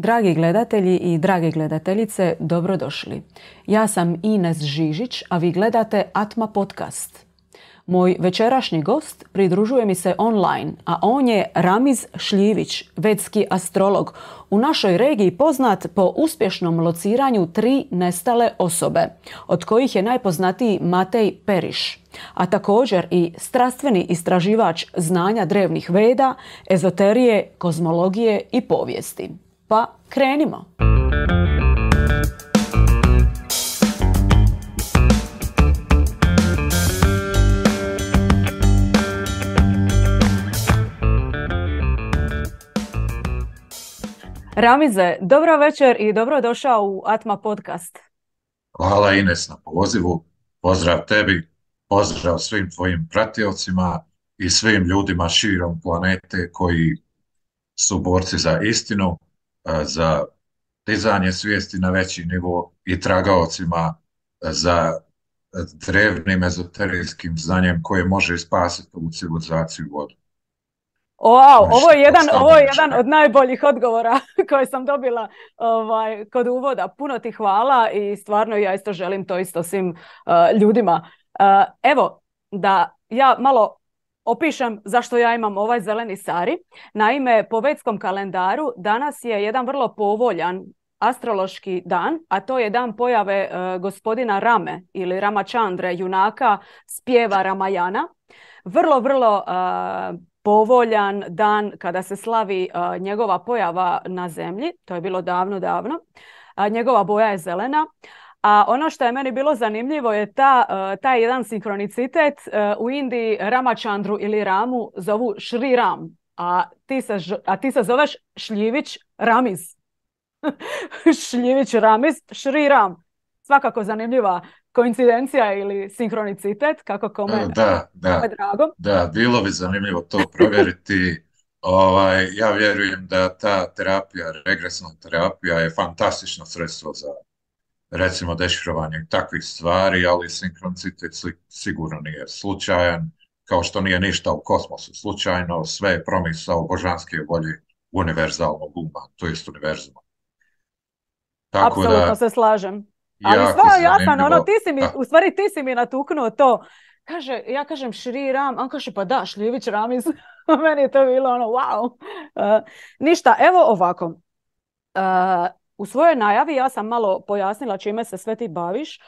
Dragi gledatelji i drage gledateljice, dobrodošli. Ja sam Ines Žižić, a vi gledate Atma podcast. Moj večerašnji gost pridružuje mi se online, a on je Ramiz Šljivić, vedski astrolog, u našoj regiji poznat po uspješnom lociranju 3 nestale osobe, od kojih je najpoznatiji Matej Periš, a također i strastveni istraživač znanja drevnih veda, ezoterije, kozmologije i povijesti. Pa krenimo! Ramize, dobro večer i dobrodošao u Atma podcast. Hvala Ines na pozivu, pozdrav tebi, pozdrav svim tvojim pratiocima i svim ljudima širom planete koji su borci za istinu, za dizanje svijesti na veći nivo i tragaocima za drevnim ezoterijskim znanjem koje može spasiti ovu civilizaciju vodu. Wow, ovo je jedan od najboljih odgovora koje sam dobila kod uvoda. Puno ti hvala i stvarno ja isto želim to isto svim ljudima. Evo, da ja malo opišem zašto ja imam ovaj zeleni sari. Naime, po vedskom kalendaru danas je jedan vrlo povoljan astrološki dan, a to je dan pojave gospodina Rame ili Ramachandre, junaka spjeva Ramayana. Vrlo povoljan dan kada se slavi njegova pojava na zemlji. To je bilo davno. Njegova boja je zelena. A ono što je meni bilo zanimljivo je taj jedan sinkronicitet. U Indiji Ramachandru ili Ramu zovu Šri Ram, a ti se zoveš Šljivić Ramiz. Šljivić Ramiz, Šri Ram. Svakako zanimljiva koincidencija ili sinkronicitet, kako kome drago. Da, bilo bi zanimljivo to provjeriti. Ja vjerujem da ta terapija, regresna terapija je fantastično sredstvo za recimo dešifrovanje takvih stvari, ali sinkronicitet sigurno nije slučajan, kao što nije ništa u kosmosu slučajno, sve je promisao božanske volje univerzalnog uma, to jest univerzuma. Apsolutno se slažem. Ali jasno, ti si mi natuknuo to. Ja kažem Šri Ram, on kaže pa da, Šljivić Ramiz. Meni je to bilo wow. Ništa, evo ovako. U svojoj najavi ja sam malo pojasnila čime se sve ti baviš,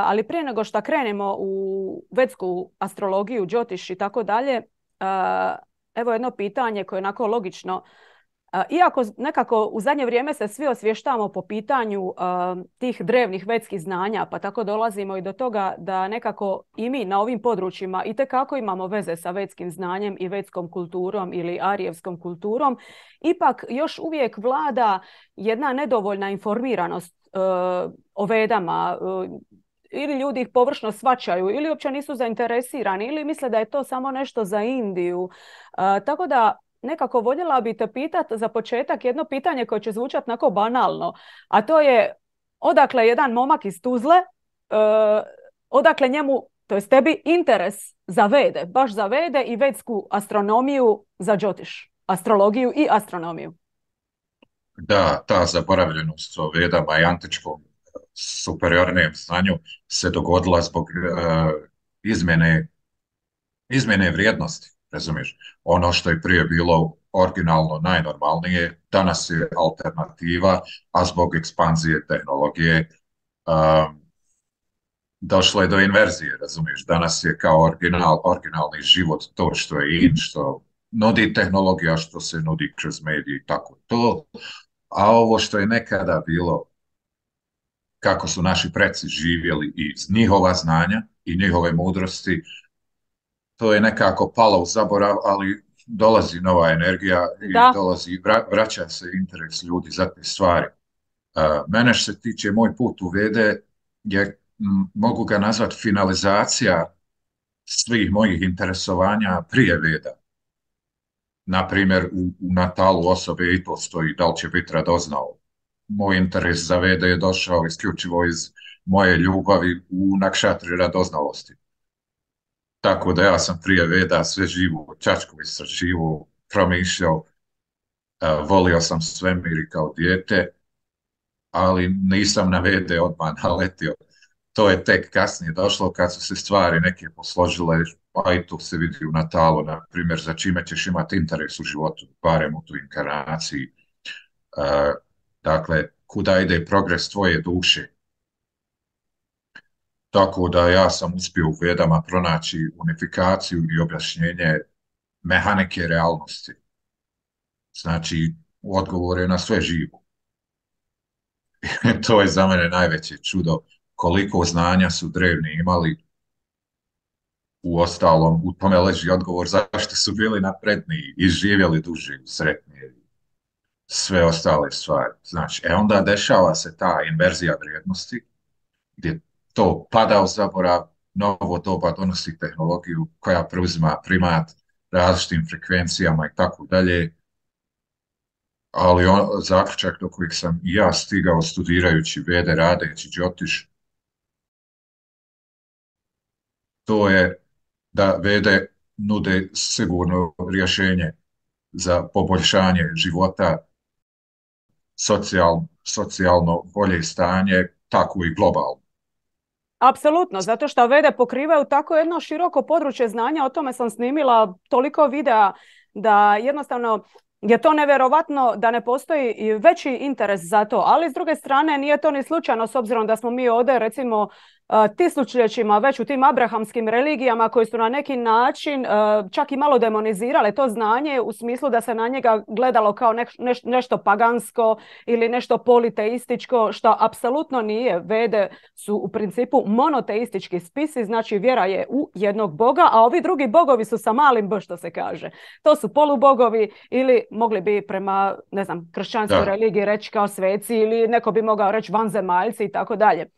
ali prije nego što krenemo u vedsku astrologiju, džotiš i tako dalje, evo jedno pitanje koje je onako logično. Iako nekako u zadnje vrijeme se svi osvještavamo po pitanju tih drevnih vedskih znanja, pa tako dolazimo i do toga da nekako i mi na ovim područjima itekako imamo veze sa vedskim znanjem i vedskom kulturom ili arijevskom kulturom, ipak još uvijek vlada jedna nedovoljna informiranost o vedama, ili ljudi ih površno shvaćaju, ili uopće nisu zainteresirani, ili misle da je to samo nešto za Indiju. Tako da nekako voljela bi te pitati za početak jedno pitanje koje će zvučati onako banalno, a to je odakle jedan momak iz Tuzle, odakle njemu, to jest tebi, interes za vede, baš za vede i vedsku astronomiju za džotiš, astrologiju i astronomiju. Da, ta zaboravljenost o vedama i antičkom superiornijem znanju se dogodila zbog izmjene vrijednosti. Razumiješ, ono što je prije bilo originalno najnormalnije, danas je alternativa, a zbog ekspanzije tehnologije došlo je do inverzije, razumiješ. Danas je kao originalni život to što je što nudi tehnologija, što se nudi kroz medije i tako to. A ovo što je nekada bilo, kako su naši preci živjeli iz njihova znanja i njihove mudrosti, to je nekako palo u zaborav, ali dolazi nova energija i vraća se interes ljudi za te stvari. Mene što se tiče moj put u vede mogu ga nazvati finalizacija svih mojih interesovanja prije veda. Naprimjer, u natalu osobe i to stoji da li će biti radoznao. Moj interes za vede je došao isključivo iz moje ljubavi u nakšatri radoznalosti. Tako da ja sam prije veda sve živo čačko istraživo, promišljao, Volio sam svemir i kao dijete, ali nisam na vede odmah naletio. To je tek kasnije došlo kad su se stvari neke posložile, pa i to se vidi u Natalu, na primjer, za čime ćeš imati interes u životu, barem u tu inkarnaciji. Dakle, kuda ide progres tvoje duše. Tako da ja sam uspio u Vedama pronaći unifikaciju i objašnjenje mehanike realnosti. Znači, odgovor je na sve živo. To je za mene najveće čudo koliko znanja su drevni imali. U ostalom, u tome leži odgovor zašto su bili napredniji i živjeli duže, sretnije, sve ostale stvari. Znači, onda dešava se ta inverzija vrijednosti, gdje to pada u zaborav, novo doba donosi tehnologiju koja preuzima primat različitim frekvencijama i tako dalje, ali zaključak do kojeg sam i ja stigao studirajući Vede, radeći Džotiš, to je da Vede nude sigurno rješenje za poboljšanje života, socijalno bolje stanje, tako i globalno. Apsolutno, zato što Vede pokrivaju tako jedno široko područje znanja, o tome sam snimila toliko videa da jednostavno je to nevjerovatno da ne postoji i veći interes za to, ali s druge strane nije to ni slučajno s obzirom da smo mi ovdje recimo tisućljećima već u tim abrahamskim religijama koji su na neki način čak i malo demonizirale to znanje u smislu da se na njega gledalo kao nešto pagansko ili nešto politeističko, što apsolutno nije. Vede su u principu monoteistički spisi, znači vjera je u jednog boga, a ovi drugi bogovi su sa malim b, što se kaže. To su polubogovi ili mogli bi prema, ne znam, kršćanskoj religiji reći kao sveci ili neko bi mogao reći vanzemaljci i tako dalje.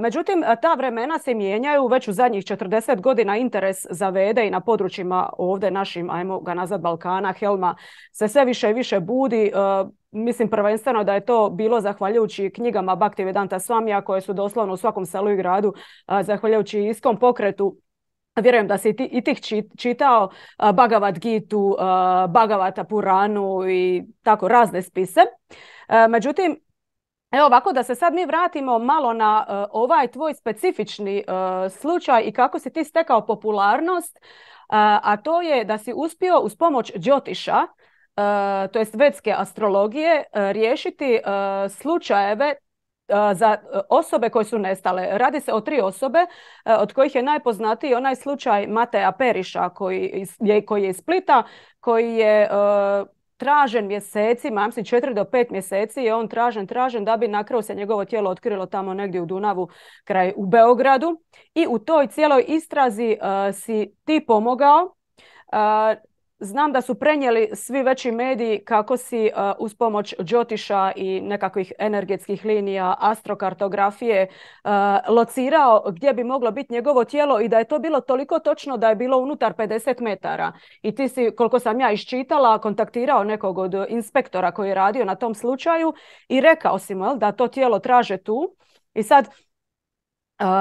Međutim, ta vremena se mijenjaju, već u zadnjih 40 godina interes za Vede i na područjima ovdje našim, ajmo ga nazvat Balkana, Helma, se sve više i više budi. Mislim prvenstveno da je to bilo zahvaljujući knjigama Bhaktivedanta Swamija koje su doslovno u svakom selu i gradu, zahvaljujući iskom pokretu. Vjerujem da si i tih čitao Bhagavad Gitu, Bhagavata Puranu i tako razne spise. Međutim, evo ovako da se sad mi vratimo malo na ovaj tvoj specifični slučaj i kako si ti stekao popularnost, a to je da si uspio uz pomoć Džotiša, to jest vedske astrologije, riješiti slučajeve za osobe koje su nestale. Radi se o 3 osobe, od kojih je najpoznatiji onaj slučaj Mateja Periša koji je iz Splita, koji je tražen mjesecima, mislim 4 do 5 mjeseci je on tražen da bi na kraju se njegovo tijelo otkrilo tamo negdje u Dunavu kraj u Beogradu. I u toj cijeloj istrazi si ti pomogao. Znam da su prenijeli svi veći mediji kako si uz pomoć Džotiša i nekakvih energetskih linija, astrokartografije locirao gdje bi moglo biti njegovo tijelo i da je to bilo toliko točno da je bilo unutar 50 metara. I ti si, koliko sam ja iščitala, kontaktirao nekog od inspektora koji je radio na tom slučaju i rekao si mu da to tijelo traže tu. I sad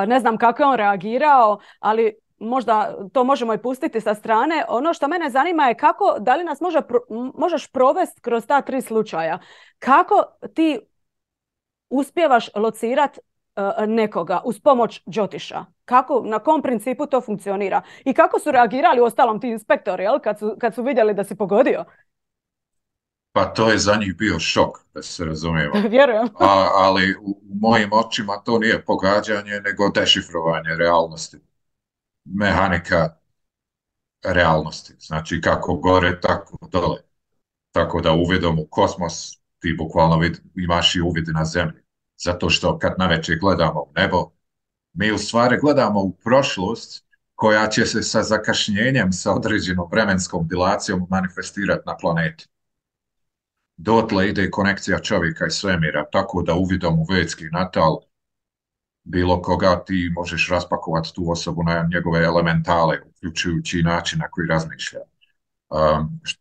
ne znam kako je on reagirao, ali možda to možemo i pustiti sa strane. Ono što mene zanima je kako, da li nas možeš provesti kroz ta 3 slučaja. Kako ti uspijevaš locirati nekoga uz pomoć Džotiša? Kako, na kom principu to funkcionira? I kako su reagirali ostalom ti inspektori, jel, kad su vidjeli da si pogodio? Pa to je za njih bio šok, da se razumijemo. Vjerujem. Ali u mojim očima to nije pogađanje, nego dešifrovanje realnosti. Mehanika realnosti. Znači kako gore, tako dole. Tako da uvidom u kosmos ti bukvalno imaš i uvid na zemlji. Zato što kad navečer gledamo u nebo, mi u stvari gledamo u prošlost koja će se sa zakašnjenjem, sa određenom vremenskom dilacijom manifestirati na planeti. Dotle ide konekcija čovjeka i svemira, tako da uvidom u vedski natal bilo koga ti možeš raspakovati tu osobu na njegove elementale, uključujući način na koji razmišlja.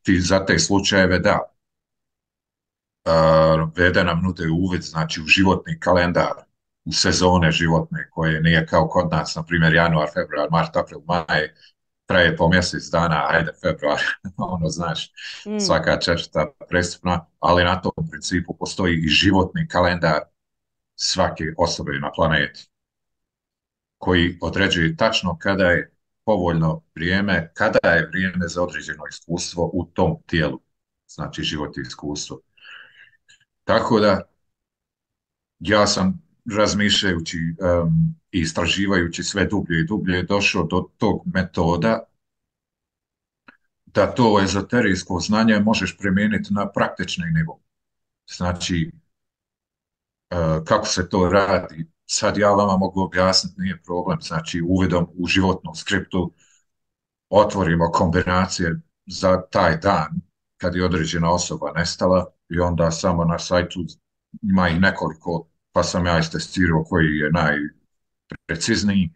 Ti za te slučajeve da. Vede nam nude uvid, znači u životni kalendar, u sezone životne koje nije kao kod nas, na primjer januar, februar, mart, april, maj, traje po mjesec dana, ajde, februar, ono, znaš, Mm. svaka četvrta prestupna, ali na tom principu postoji i životni kalendar svake osobe na planeti, koji određuje tačno kada je povoljno vrijeme, kada je vrijeme za određeno iskustvo u tom tijelu, znači život i iskustvo. Tako da ja sam razmišljajući i istraživajući sve dublje i dublje došao do tog metoda da to ezoterijsko znanje možeš primijeniti na praktični nivo. Znači, kako se to radi, sad ja vama mogu objasniti, nije problem. Znači, uvidom u životnu skriptu otvorimo kombinacije za taj dan kad je određena osoba nestala i onda samo na sajtu ima ih nekoliko, pa sam ja istestirao koji je najprecizniji.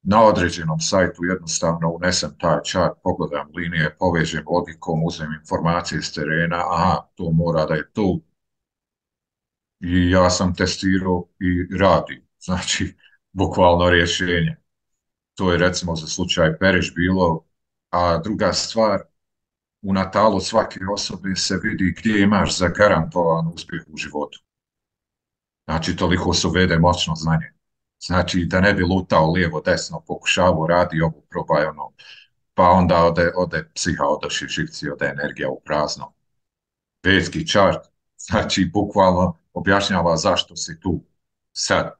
Na određenom sajtu jednostavno unesem taj chart, pogledam linije, povežem logikom, uzmem informacije s terena, aha, to mora da je tu. I ja sam testirao i radi. Znači, bukvalno rješenje. To je recimo za slučaj Periš bilo, a druga stvar, u natalu svake osobe se vidi gdje imaš zagarantovan uspjeh u životu. Znači, toliko se uvede moćno znanje. Znači, da ne bi lutao lijevo, desno, pokušavao, radi ovo, probaj ono, pa onda ode psiha, odoši živci, ode energija u prazno. Vedski čart, znači, bukvalno objašnjava zašto si tu sad,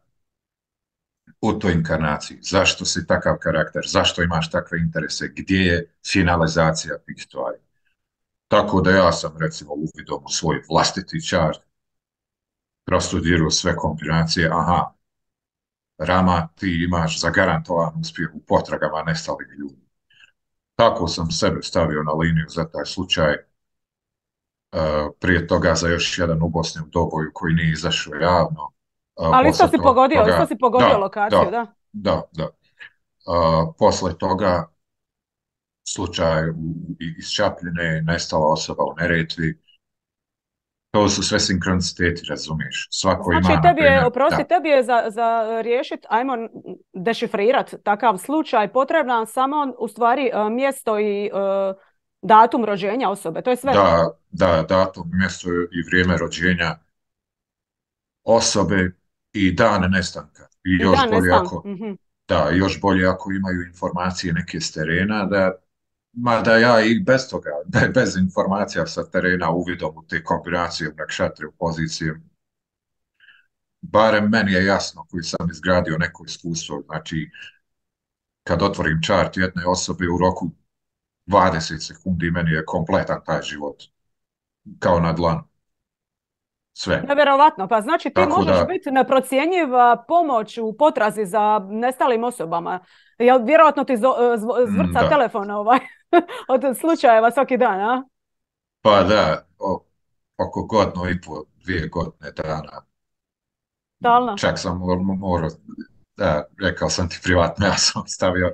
u toj inkarnaciji, zašto si takav karakter, zašto imaš takve interese, gdje je finalizacija tih stvari. Tako da ja sam, recimo, uvidom u svoj vlastiti čart, prostudirao sve kombinacije, aha, Rama, ti imaš zagarantovan uspjeh u potragama nestalih ljudi. Tako sam sebe stavio na liniju za taj slučaj. Prije toga za još jedan u Bosni u Doboju koji nije izašao javno. Ali isto si pogodio Da, lokaciju, da, da? da. Posle toga slučaj iz Čapljine, nestala osoba u Neretvi. To su sve sinkroniciteti, razumiješ? Svako Znači, ima, na primjer, tebi je za riješiti, ajmo dešifrirati takav slučaj, potrebno samo u stvari mjesto i datum rođenja osobe, to je sve? Da, datum, mjesto i vrijeme rođenja osobe i dan nestanka. I I još dan bolje nestanka. ako, da, još bolje ako imaju informacije neke s terena, mada ja i bez toga, bez informacija sa terena, uvidom u te kombinacije, u nakšatre, u pozicije, barem meni je jasno koji sam izgradio neko iskustvo. Znači, kad otvorim čart jedne osobe u roku 20 sekundi, meni je kompletan taj život, kao na dlanu. Sve. Nevjerovatno, pa znači ti Tako možeš da, biti neprocjenjiva pomoć u potrazi za nestalim osobama. Jel vjerojatno ti zvrca da. telefon od slučajeva svaki dan, a? Pa da, oko godinu i po, 2 godine dana. Stalno. Čak sam morao, da, rekao sam ti privatno, ja sam stavio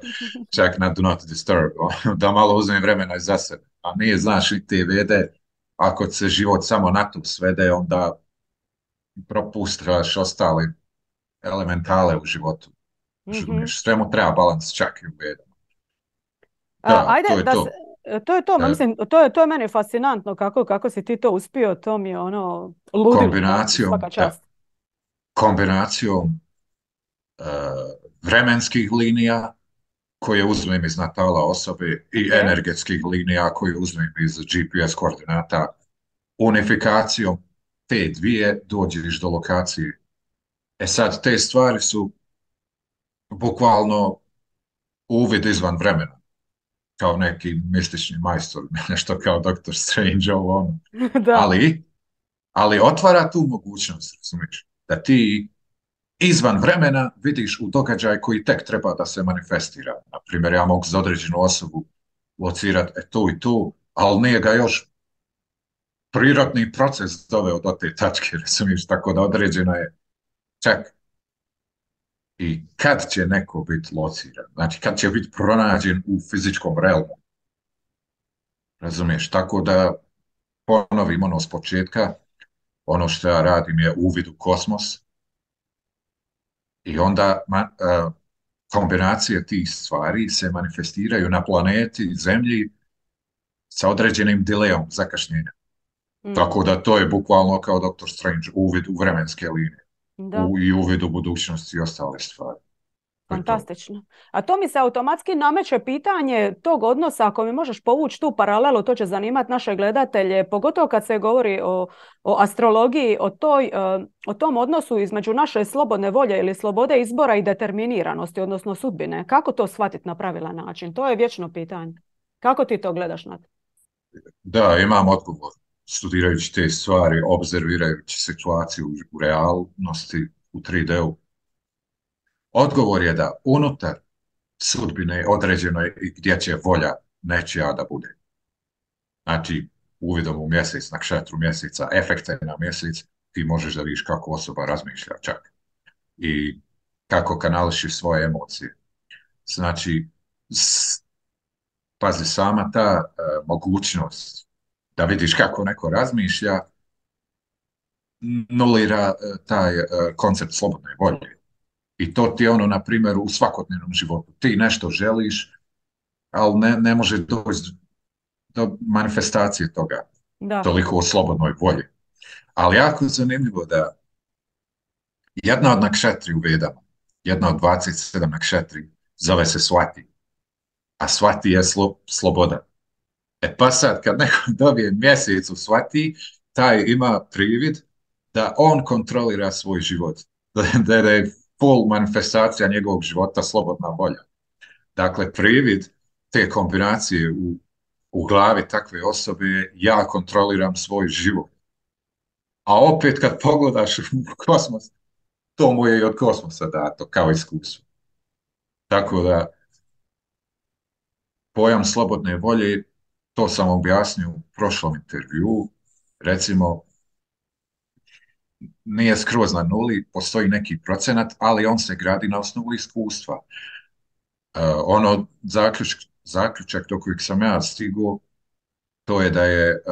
čak na Do Not Disturb, da malo uzmem vremena i za sebe. A nije, znaš, i te vede, ako se život samo na to svede, onda propuštaš ostale elementale u životu. Razumiješ, svemu treba balans, čak i u vedama. Da, Ajde, to je to. to je to, E, mislim, to je meni fascinantno kako si ti to uspio, to mi je ono ludilo, kombinacijom, svaka da, čast. kombinacijom vremenskih linija koje uzmem iz natala osobe i Okay. energetskih linija koje uzmem iz GPS koordinata, unifikacijom te dvije dođeš do lokacije. E sad, te stvari su bukvalno uvid izvan vremena, kao neki mistični majstor, nešto kao Dr. Strange, ovo ono. Da. Ali otvara tu mogućnost, razumiješ, da ti izvan vremena vidiš u događaj koji tek treba da se manifestira. Na primjer, ja mogu za određenu osobu locirati tu i tu, ali nije ga još prirodni proces doveo do te tačke, razumiješ, tako da određeno je čak i kad će neko biti lociran, znači kad će biti pronađen u fizičkom realmu, razumiješ, tako da ponovim ono s početka, ono što ja radim je uvid u kosmos i onda kombinacije tih stvari se manifestiraju na planeti Zemlji sa određenim delejom, zakašnjenja. Tako da to je bukvalno kao Doctor Strange, uvid u vremenske linije i uvid u budućnost i ostale stvari. Fantastično. A to mi se automatski nameće pitanje tog odnosa, ako mi možeš povući tu paralelu, to će zanimati naše gledatelje, pogotovo kad se govori o astrologiji, o tom odnosu između naše slobodne volje ili slobode izbora i determiniranosti, odnosno sudbine. Kako to shvatiti na pravilan način? To je vječno pitanje. Kako ti to gledaš na to? Da, imam odgovor. Studirajući te stvari, obzervirajući situaciju u realnosti, u 3D-u. Odgovor je da unutar sudbine određeno je i gdje će volja nečija da bude. Znači, uvidom u mjesec, nakšatru mjeseca, efekte na mjesec, ti možeš da vidiš kako osoba razmišlja čak. I kako kanališi svoje emocije. Znači, pazi, sama ta mogućnost da vidiš kako neko razmišlja, nulira taj koncept slobodne volje. I to ti je ono, na primjer, u svakodnevnom životu. Ti nešto želiš, ali ne može doći do manifestacije toga. Da. Toliko o slobodnoj volji. Ali jako je zanimljivo da jedna od nakšetri u Vedama, jedna od 27 nakšetri, zove se Swati. A Swati je sloboda. Pa sad, kad neko dobije mjesec u Swati, taj ima privid da on kontrolira svoj život. Da je full manifestacija njegovog života slobodna volja. Dakle, privid te kombinacije u glavi takve osobe je ja kontroliram svoj život. A opet kad pogledaš u kosmos, to mu je i od kosmosa dato kao iskustvo. Tako da pojam slobodne volje, to sam objasnio u prošlom intervjuu, recimo nije skroz na nuli, postoji neki procenat, ali on se gradi na osnovu iskustva. Zaključak do kojeg sam ja stigao, to je da je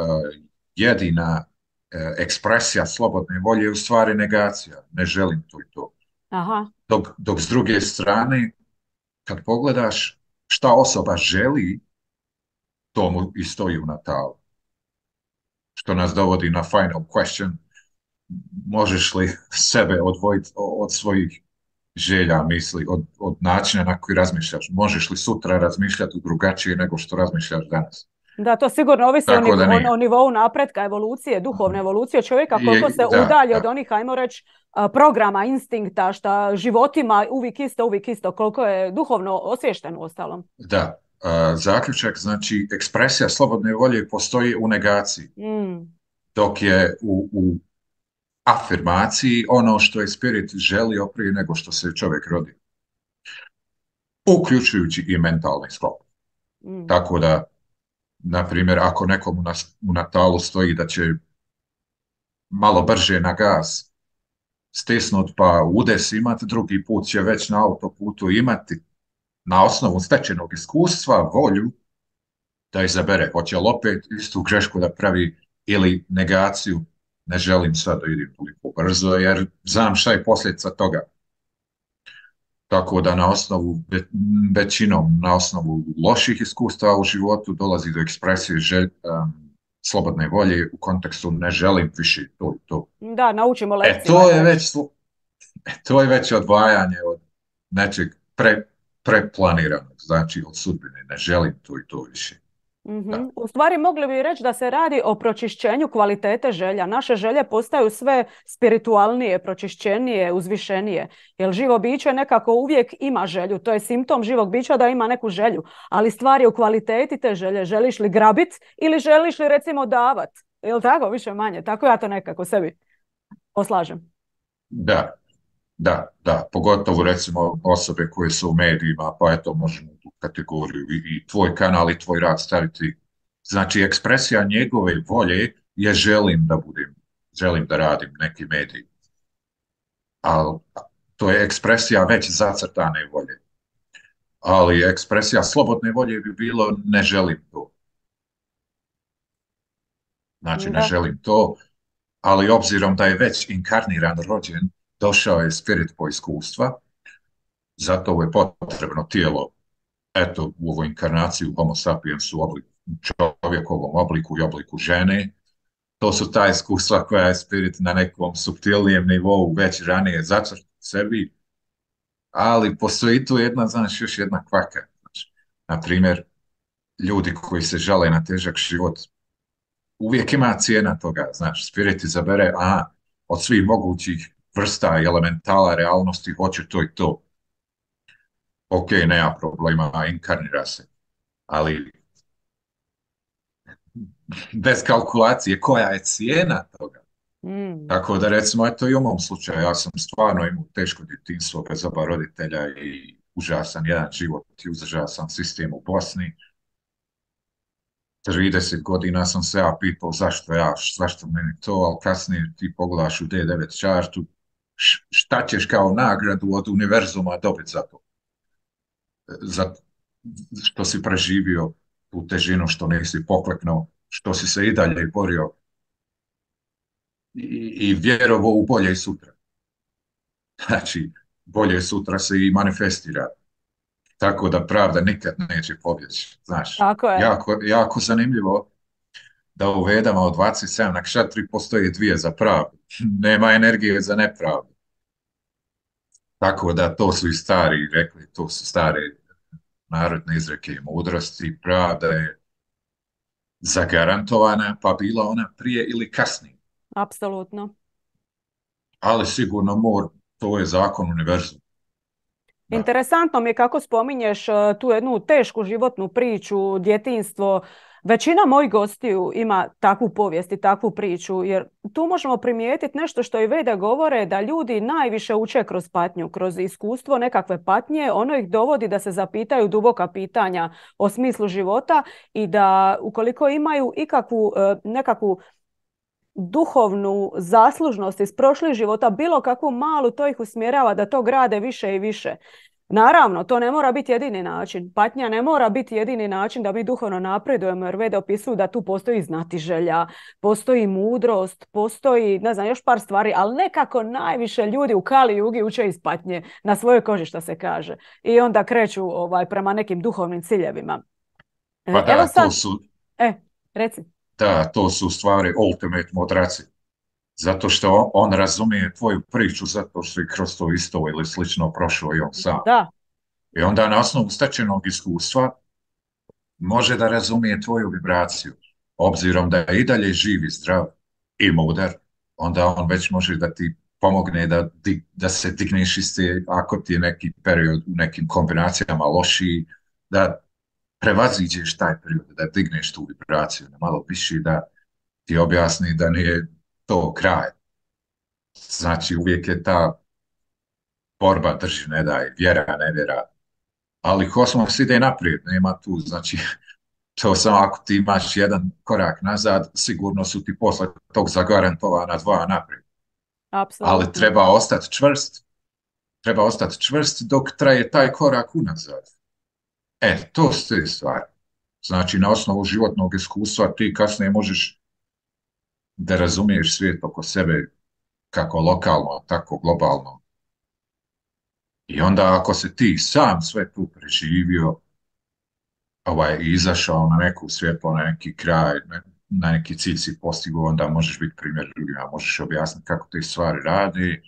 jedina ekspresija slobodne volje u stvari negacija. Ne želim to i to. Aha. Dok s druge strane, kad pogledaš šta osoba želi, to mu i stoji u natalu. Što nas dovodi na final question. Možeš li sebe odvojiti od svojih želja, misli, od načina na koji razmišljaš? Možeš li sutra razmišljati drugačije nego što razmišljaš danas? Da, to sigurno ovisi o nivou napretka, evolucije, duhovne evolucije čovjeka, koliko se udalji od onih, ajmo reći, programa, instinkta, šta životima uvijek isto, koliko je duhovno osviješteno u ostalom. Da, zaključak, znači, ekspresija slobodne volje postoji u negaciji, dok je u afirmaciji ono što je spirit želio prije nego što se čovjek rodi. Uključujući i mentalni sklop. Tako da, na primjer, ako nekom u natalu stoji da će malo brže na gas stisnut pa udes imati, drugi put će već na autoputu imati na osnovu stečenog iskustva volju da izabere. Hoće li opet istu grešku da pravi ili negaciju, ne želim sad da idem toliko brzo jer znam šta je posljedica toga. Tako da većinom na osnovu loših iskustava u životu dolazi do ekspresije slobodne volje u kontekstu ne želim više to i to. Da, naučimo lekcije. To je već odvajanje od nečeg preplaniranog, znači od sudbine, ne želim to i to više. U stvari mogli bi reći da se radi o pročišćenju kvalitete želja. Naše želje postaju sve spiritualnije, pročišćenije, uzvišenije. Jer živo biće nekako uvijek ima želju. To je simptom živog bića da ima neku želju. Ali stvar je u kvaliteti te želje. Želiš li grabit ili želiš li recimo davat? Je li tako više manje? Tako ja to nekako sebi poslažem. Da, pogotovo recimo osobe koje su u medijima, pa eto možemo tu kategoriju i tvoj kanal i tvoj rad staviti. Znači ekspresija njegove volje je želim da radim neki medij. Ali to je ekspresija već zacrtane volje. Ali ekspresija slobodne volje bi bilo ne želim to. Znači ne želim to, ali obzirom da je već inkarniran, rođen, došao je spirit po iskustva, Zato je potrebno tijelo, eto, u ovoj inkarnaciji u Homo sapiens u čovjekovom obliku i obliku žene. To su ta iskustva koja je spirit na nekom suptilnijem nivou već ranije zacrta u sebi, ali postoji tu jedna, znaš, još jedna kvaka. Znači, na primjer, ljudi koji se žale na težak život, uvijek ima cijena toga, znači, spirit izabere, od svih mogućih vrsta i elementala realnosti hoće to i to. Ok, nema problema, inkarnira se, ali bez kalkulacije koja je cijena toga. Tako da recimo, eto i u mom slučaju, ja sam stvarno imao teško djetinjstvo bez oba roditelja i užasan jedan život i užasan sistem u Bosni. 30 godina sam se ja pitao zašto meni to, ali kasnije ti pogledaš u D9 chartu, šta ćeš kao nagradu od univerzuma dobiti za to? Za što si preživio tu težinu, što nisi pokleknuo, što si se i dalje borio i vjerovao u bolje sutra. Znači, bolje sutra se i manifestira. Tako da pravda nikad neće pobjeći. Znaš, jako zanimljivo da u Vedama od 27 nakšatri postoje dvije za pravdu. Nema energije za nepravdu. Tako da to su i stari rekli, to su stare narodne izreke i mudrosti. Pravda je zagarantovana, pa bila ona prije ili kasnije. Apsolutno. Ali sigurno to je zakon univerzuma. Interesantno mi je kako spominješ tu jednu tešku životnu priču, djetinjstvo. Većina mojih gostiju ima takvu povijest i takvu priču, jer tu možemo primijetiti nešto što i Vede govore, da ljudi najviše uče kroz patnju, kroz iskustvo nekakve patnje. Ono ih dovodi da se zapitaju duboka pitanja o smislu života i da ukoliko imaju ikakvu nekakvu duhovnu zaslužnost iz prošlih života, bilo kakvu malu, to ih usmjerava da to grade više i više. Naravno, to ne mora biti jedini način. Patnja ne mora biti jedini način da mi duhovno napredujemo, jer Vede opisuju da tu postoji znatiželja, postoji mudrost, postoji, ne znam, još par stvari, ali nekako najviše ljudi u Kali Jugi uče iz patnje, na svojoj koži, što se kaže. I onda kreću prema nekim duhovnim ciljevima. Pa da, to su... Reci. Da, to su stvari ultimate mudraci. Zato što on razumije tvoju priču, zato što je kroz to isto ili slično prošao i on sam. Da. I onda na osnovu stečenog iskustva može da razumije tvoju vibraciju. Obzirom da je i dalje živ i zdrav i mudar, onda on već može da ti pomogne da se digneš iz te, ako ti je neki period u nekim kombinacijama lošiji, da prevaziđeš taj period, da digneš tu vibraciju, da malo piši, da ti objasni da nije to kraj. Znači, uvijek je ta borba drži, ne daj, vjera, ne vjera. Ali kosmos ide naprijed, nema tu, znači, to samo ako ti imaš jedan korak nazad, sigurno su ti posle tog zagarantovana dva naprijed. Apsolutno. Ali treba ostati čvrst dok traje taj korak unazad. To su te stvari. Znači, na osnovu životnog iskustva ti kasnije možeš da razumiješ svijet oko sebe kako lokalno, tako globalno. I onda ako se ti sam sve tu preživio, i izašao na neku svjetlo, na neki kraj, na neki cilj si postigao, onda možeš biti primjer drugima, možeš objasniti kako te stvari radi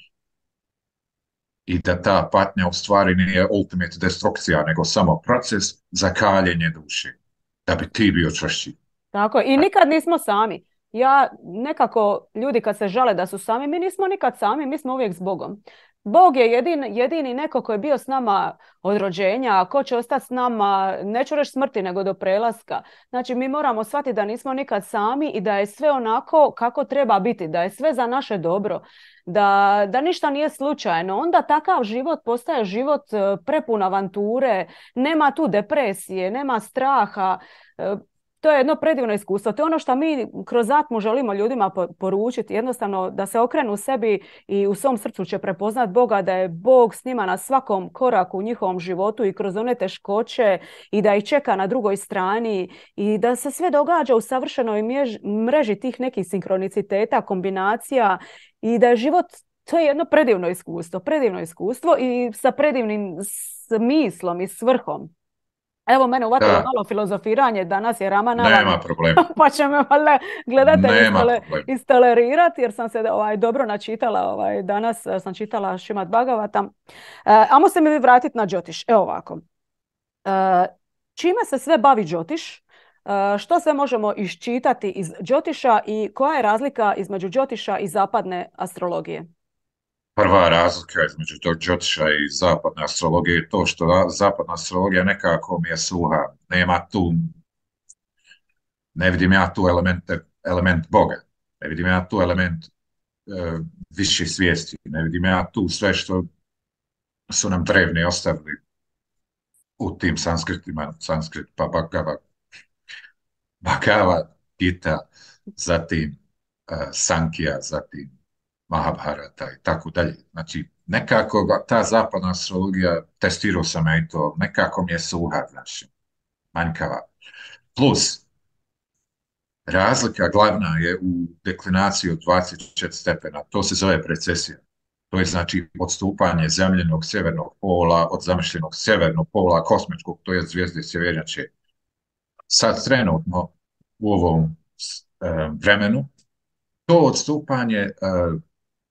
i da ta patnja u stvari nije ultimate destrukcija, nego samo proces za kaljenje duše, da bi ti bio čvršći. Tako, i nikad nismo sami. Ja nekako, ljudi kad se žale da su sami, mi nismo nikad sami, mi smo uvijek s Bogom. Bog je jedini neko koji je bio s nama od rođenja, a ko će ostati s nama, neću reći smrti, nego do prelaska. Znači, mi moramo shvatiti da nismo nikad sami i da je sve onako kako treba biti, da je sve za naše dobro, da ništa nije slučajno. Onda takav život postaje život prepun avanture, nema tu depresije, nema straha. To je jedno predivno iskustvo. To je ono što mi kroz Atmu želimo ljudima poručiti. Jednostavno da se okrenu sebi i u svom srcu će prepoznat Boga, da je Bog s njima na svakom koraku u njihovom životu i kroz one teškoće i da ih čeka na drugoj strani i da se sve događa u savršenoj mreži tih nekih sinkroniciteta, kombinacija i da je život to je jedno predivno iskustvo i sa predivnim smislom i svrhom. Evo, mene uvatilo malo filozofiranje, danas je Ramanava, nema problema. pa će me valjda gledatelji istolerirati, jer sam se dobro načitala, danas sam čitala Šimad Bhagavata. Amo se mi vratiti na Džotiš. Evo ovako. Čime se sve bavi Džotiš? Što sve možemo iščitati iz Džotiša i koja je razlika između Džotiša i zapadne astrologije? Prva razlika između tog Džotiša i zapadne astrologije je to što zapadna astrologija nekako mi je suha. Nema tu, ne vidim ja tu element Boga. Ne vidim ja tu element više svijesti. Ne vidim ja tu sve što su nam drevni ostavili u tim sanskritima, sanskrit pa Bhagavad Gita, zatim Sankija, zatim Mahabharata i tako dalje. Znači, nekako ta zapadna astrologija, testirao sam ja i to, nekako mi je suha, znači, manjkava. Plus, razlika glavna je u deklinaciji od 24 stepena, to se zove precesija. To je znači odstupanje zemljenog sjevernog pola od zamišljenog sjevernog pola kosmičkog, to je zvijezde sjevernjače. Sad trenutno u ovom vremenu to odstupanje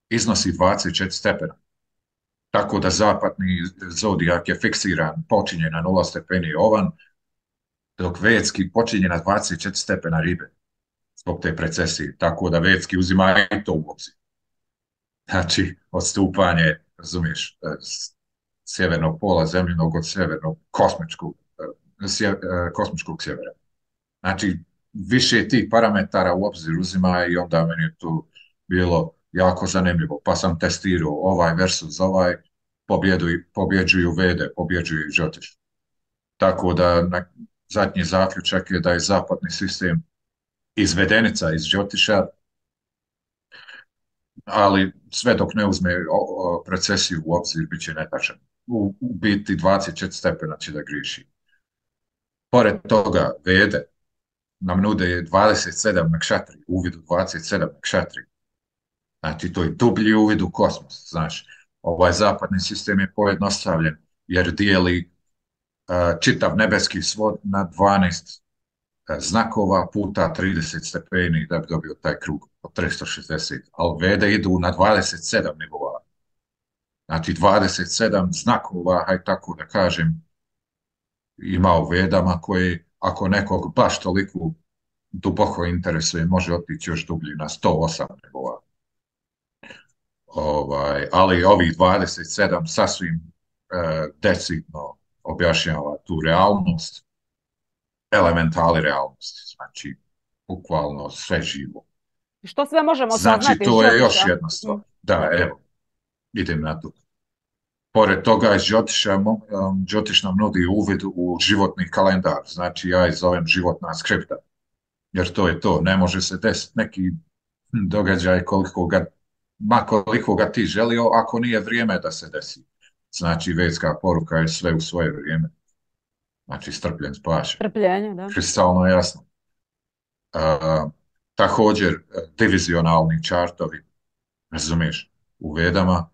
iznosi 24 stepena. Tako da zapadni zodijak je fiksiran, počinje na 0 stepeni ovan, dok vedski počinje na 24 stepena ribe zbog te precesije. Tako da vedski uzima i to u obzir. Znači, odstupanje, razumiješ, sjevernog pola zemljenog od sjevernog kosmičkog sjevera. Znači, više tih parametara u obzir uzima i onda meni je tu bilo jako zanimljivo. Pa sam testirao ovaj versus ovaj, pobjeđuju Vede, pobjeđuju Džotiš. Tako da zadnji zaključak je da je zapadni sistem izvedenica iz Džotiša, ali sve dok ne uzme precesiju u obzir, bit će netačan. U biti 24 stepena će da griješi. Pored toga, Vede nam nude 27 nakšatri, uvid u 27 nakšatri. Znači, to je dublji uvid u kosmos. Znaš, ovaj zapadni sistem je pojednostavljen, jer dijeli čitav nebeski svod na 12 znakova puta 30 stepeni da bi dobio taj krug od 360. Ali Vede idu na 27 nivoa. Znači, 27 znakova, haj tako da kažem, ima u Vedama koji, ako nekog baš toliko duboko interesuje, može otići još dublji na 108 nivoa. Ali ovih 27 sasvim decidno objašnjava tu realnost, elementali realnosti, znači bukvalno sve živo. Što sve možemo saznati? Znači, to je još jedna stvar. Da, evo, idem na to. Pored toga iz Džotiš nam nudi uvid u životni kalendar, znači ja ih zovem životna skripta, jer to je to, ne može se desiti neki događaj koliko ga ti želio, ako nije vrijeme da se desi. Znači, vedska poruka je sve u svoje vrijeme. Znači, strpljen spaša. Strpljenje, da. Kristalno jasno. Također, divizionalni čartovi, razumiješ, u Vedama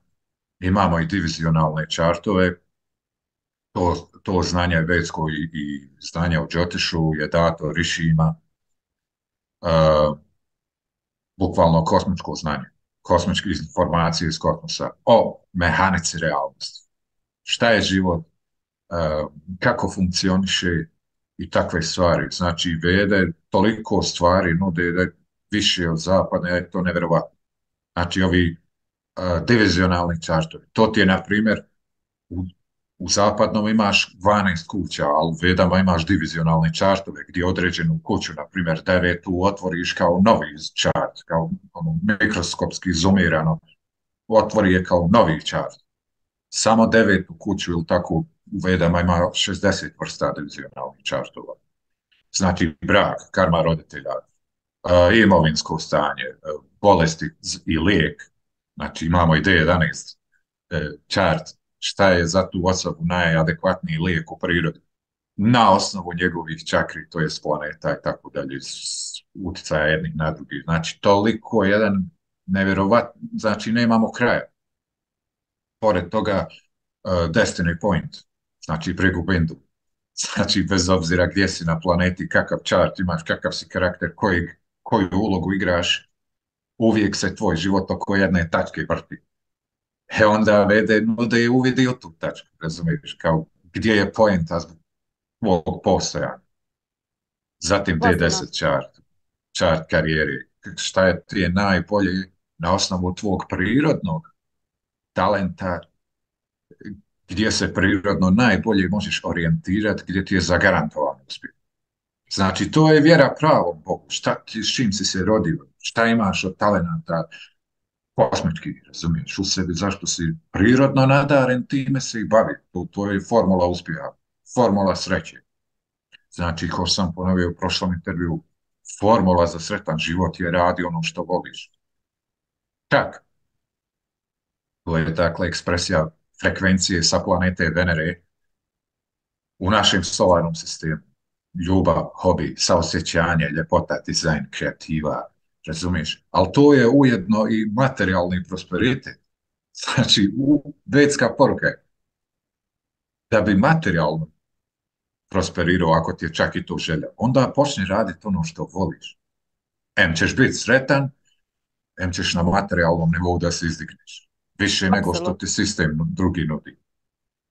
imamo i divizionalne čartove, to znanje vedsko i znanje o Džotišu je dato rišijima, bukvalno kosmičko znanje, kosmičke informacije iz kosmosa o mehanici realnosti. Šta je život, kako funkcioniše i takve stvari. Znači, Vede toliko stvari nude da je više od zapada, je to nevjerovatno. Znači, ovi divizionalni čartovi. To ti je, na primjer, u zapadnom imaš 12 kuća, ali u Vedama imaš divizionalne čartove gdje određenu kuću, na primjer 9, otvoriš kao novi čart, kao mikroskopski zoomirano, otvori je kao novi čart. Samo 9 kuću ili tako u Vedama ima 60 vrsta divizionalnih čartova. Znači brak, karma roditelja, imovinsko stanje, bolesti i lijek. Znači imamo i D11 čart, šta je za tu osobu najadekvatniji lijek u prirodi. Na osnovu njegovih čakri, to je planeta i tako dalje, utjecaja jednih na drugih. Znači toliko jedan nevjerovatno, znači nemamo kraja. Pored toga, Destiny Point, znači brigu bindu. Znači, bez obzira gdje si na planeti, kakav čart imaš, kakav si karakter, koju ulogu igraš, uvijek se tvoj život oko jedne tačke vrti. Onda vede nude je uvidi u tu tačku, razumiješ, kao gdje je poenta tvog postojanja. Zatim D10 čart karijeri. Šta je ti je najbolje na osnovu tvog prirodnog talenta, gdje se prirodno najbolje možeš orijentirati, gdje ti je zagarantovan uspjeh. Znači, to je vjera pravom Bogu. S čim si se rodio, šta imaš od talenta, kosmički, razumiješ, u sebi, zašto si prirodno nadaren, time se i bavi. To je formula uspjeha, formula sreće. Znači, kao sam ponovio u prošlom intervju, formula za sretan život je radi ono što voliš. Čak, to je dakle ekspresija frekvencije sa planete Venere u našem solarnom sistemu. Ljubav, hobi, saosjećanje, ljepota, dizajn, kreativa, razumiješ? Ali to je ujedno i materijalni prosperitet. Znači, vedska poruka je da bi materijalno prosperirao, ako ti je čak i to želja, onda počni raditi ono što voliš. Em ćeš biti sretan, em ćeš na materijalnom nivou da se izdigneš. Više nego što ti sistem drugi nudi.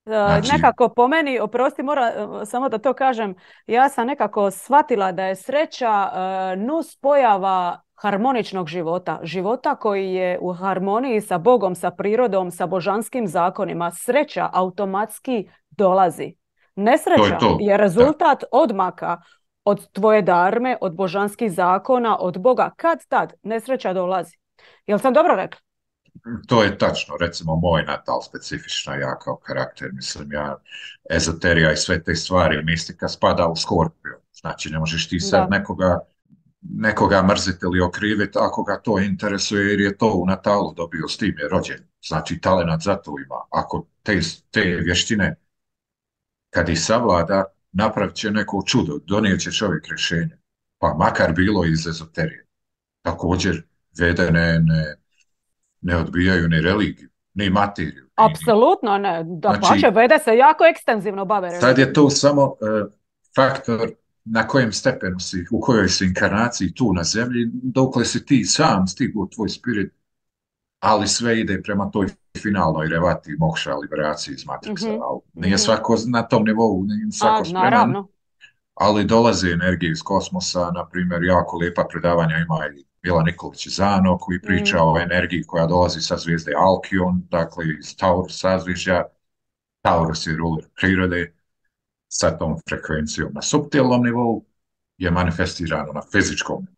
Znači, nekako po meni, oprosti, moram samo da to kažem, ja sam nekako shvatila da je sreća nus pojava harmoničnog života. Života koji je u harmoniji sa Bogom, sa prirodom, sa božanskim zakonima. Sreća automatski dolazi. Nesreća je rezultat odmaka od tvoje darme, od božanskih zakona, od Boga. Kad tad nesreća dolazi. Jel sam dobro rekla? To je tačno, recimo moj natal specifična, ja kao karakter, mislim ja, ezoterija i sve te stvari, mistika spada u Skorpio, znači ne možeš ti sad nekoga mrziti ili okriviti ako ga to interesuje jer je to u natalu dobio, s tim je rođen, znači talenat za to ima, ako te vještine kad ih savlada, napravit će neko čudo, donijet će čovjek rješenje, pa makar bilo iz ezoterije. Također, Vede ne odbijaju ni religiju, ni materiju. Apsolutno ne. Dapače, Vede se jako ekstenzivno bave religijom. Sad je to samo faktor na kojem stepenu si, u kojoj si inkarnaciji tu na zemlji, dokle si ti sam stigu tvoj spirit, ali sve ide prema toj finalnoj revati, mokša, liberaciji iz Matrixa. Ali nije svako na tom nivou, nije svako spreman. Naravno. Ali dolaze energije iz kosmosa, na primjer, jako lijepa predavanja ima i Mila Nikolić Zano koji priča o energiji koja dolazi sa zvijezde Alkion, dakle iz Taurus sazvižja. Taurus je ruler prirode, sa tom frekvencijom na suptilnom nivou je manifestirano na fizičkom nivou.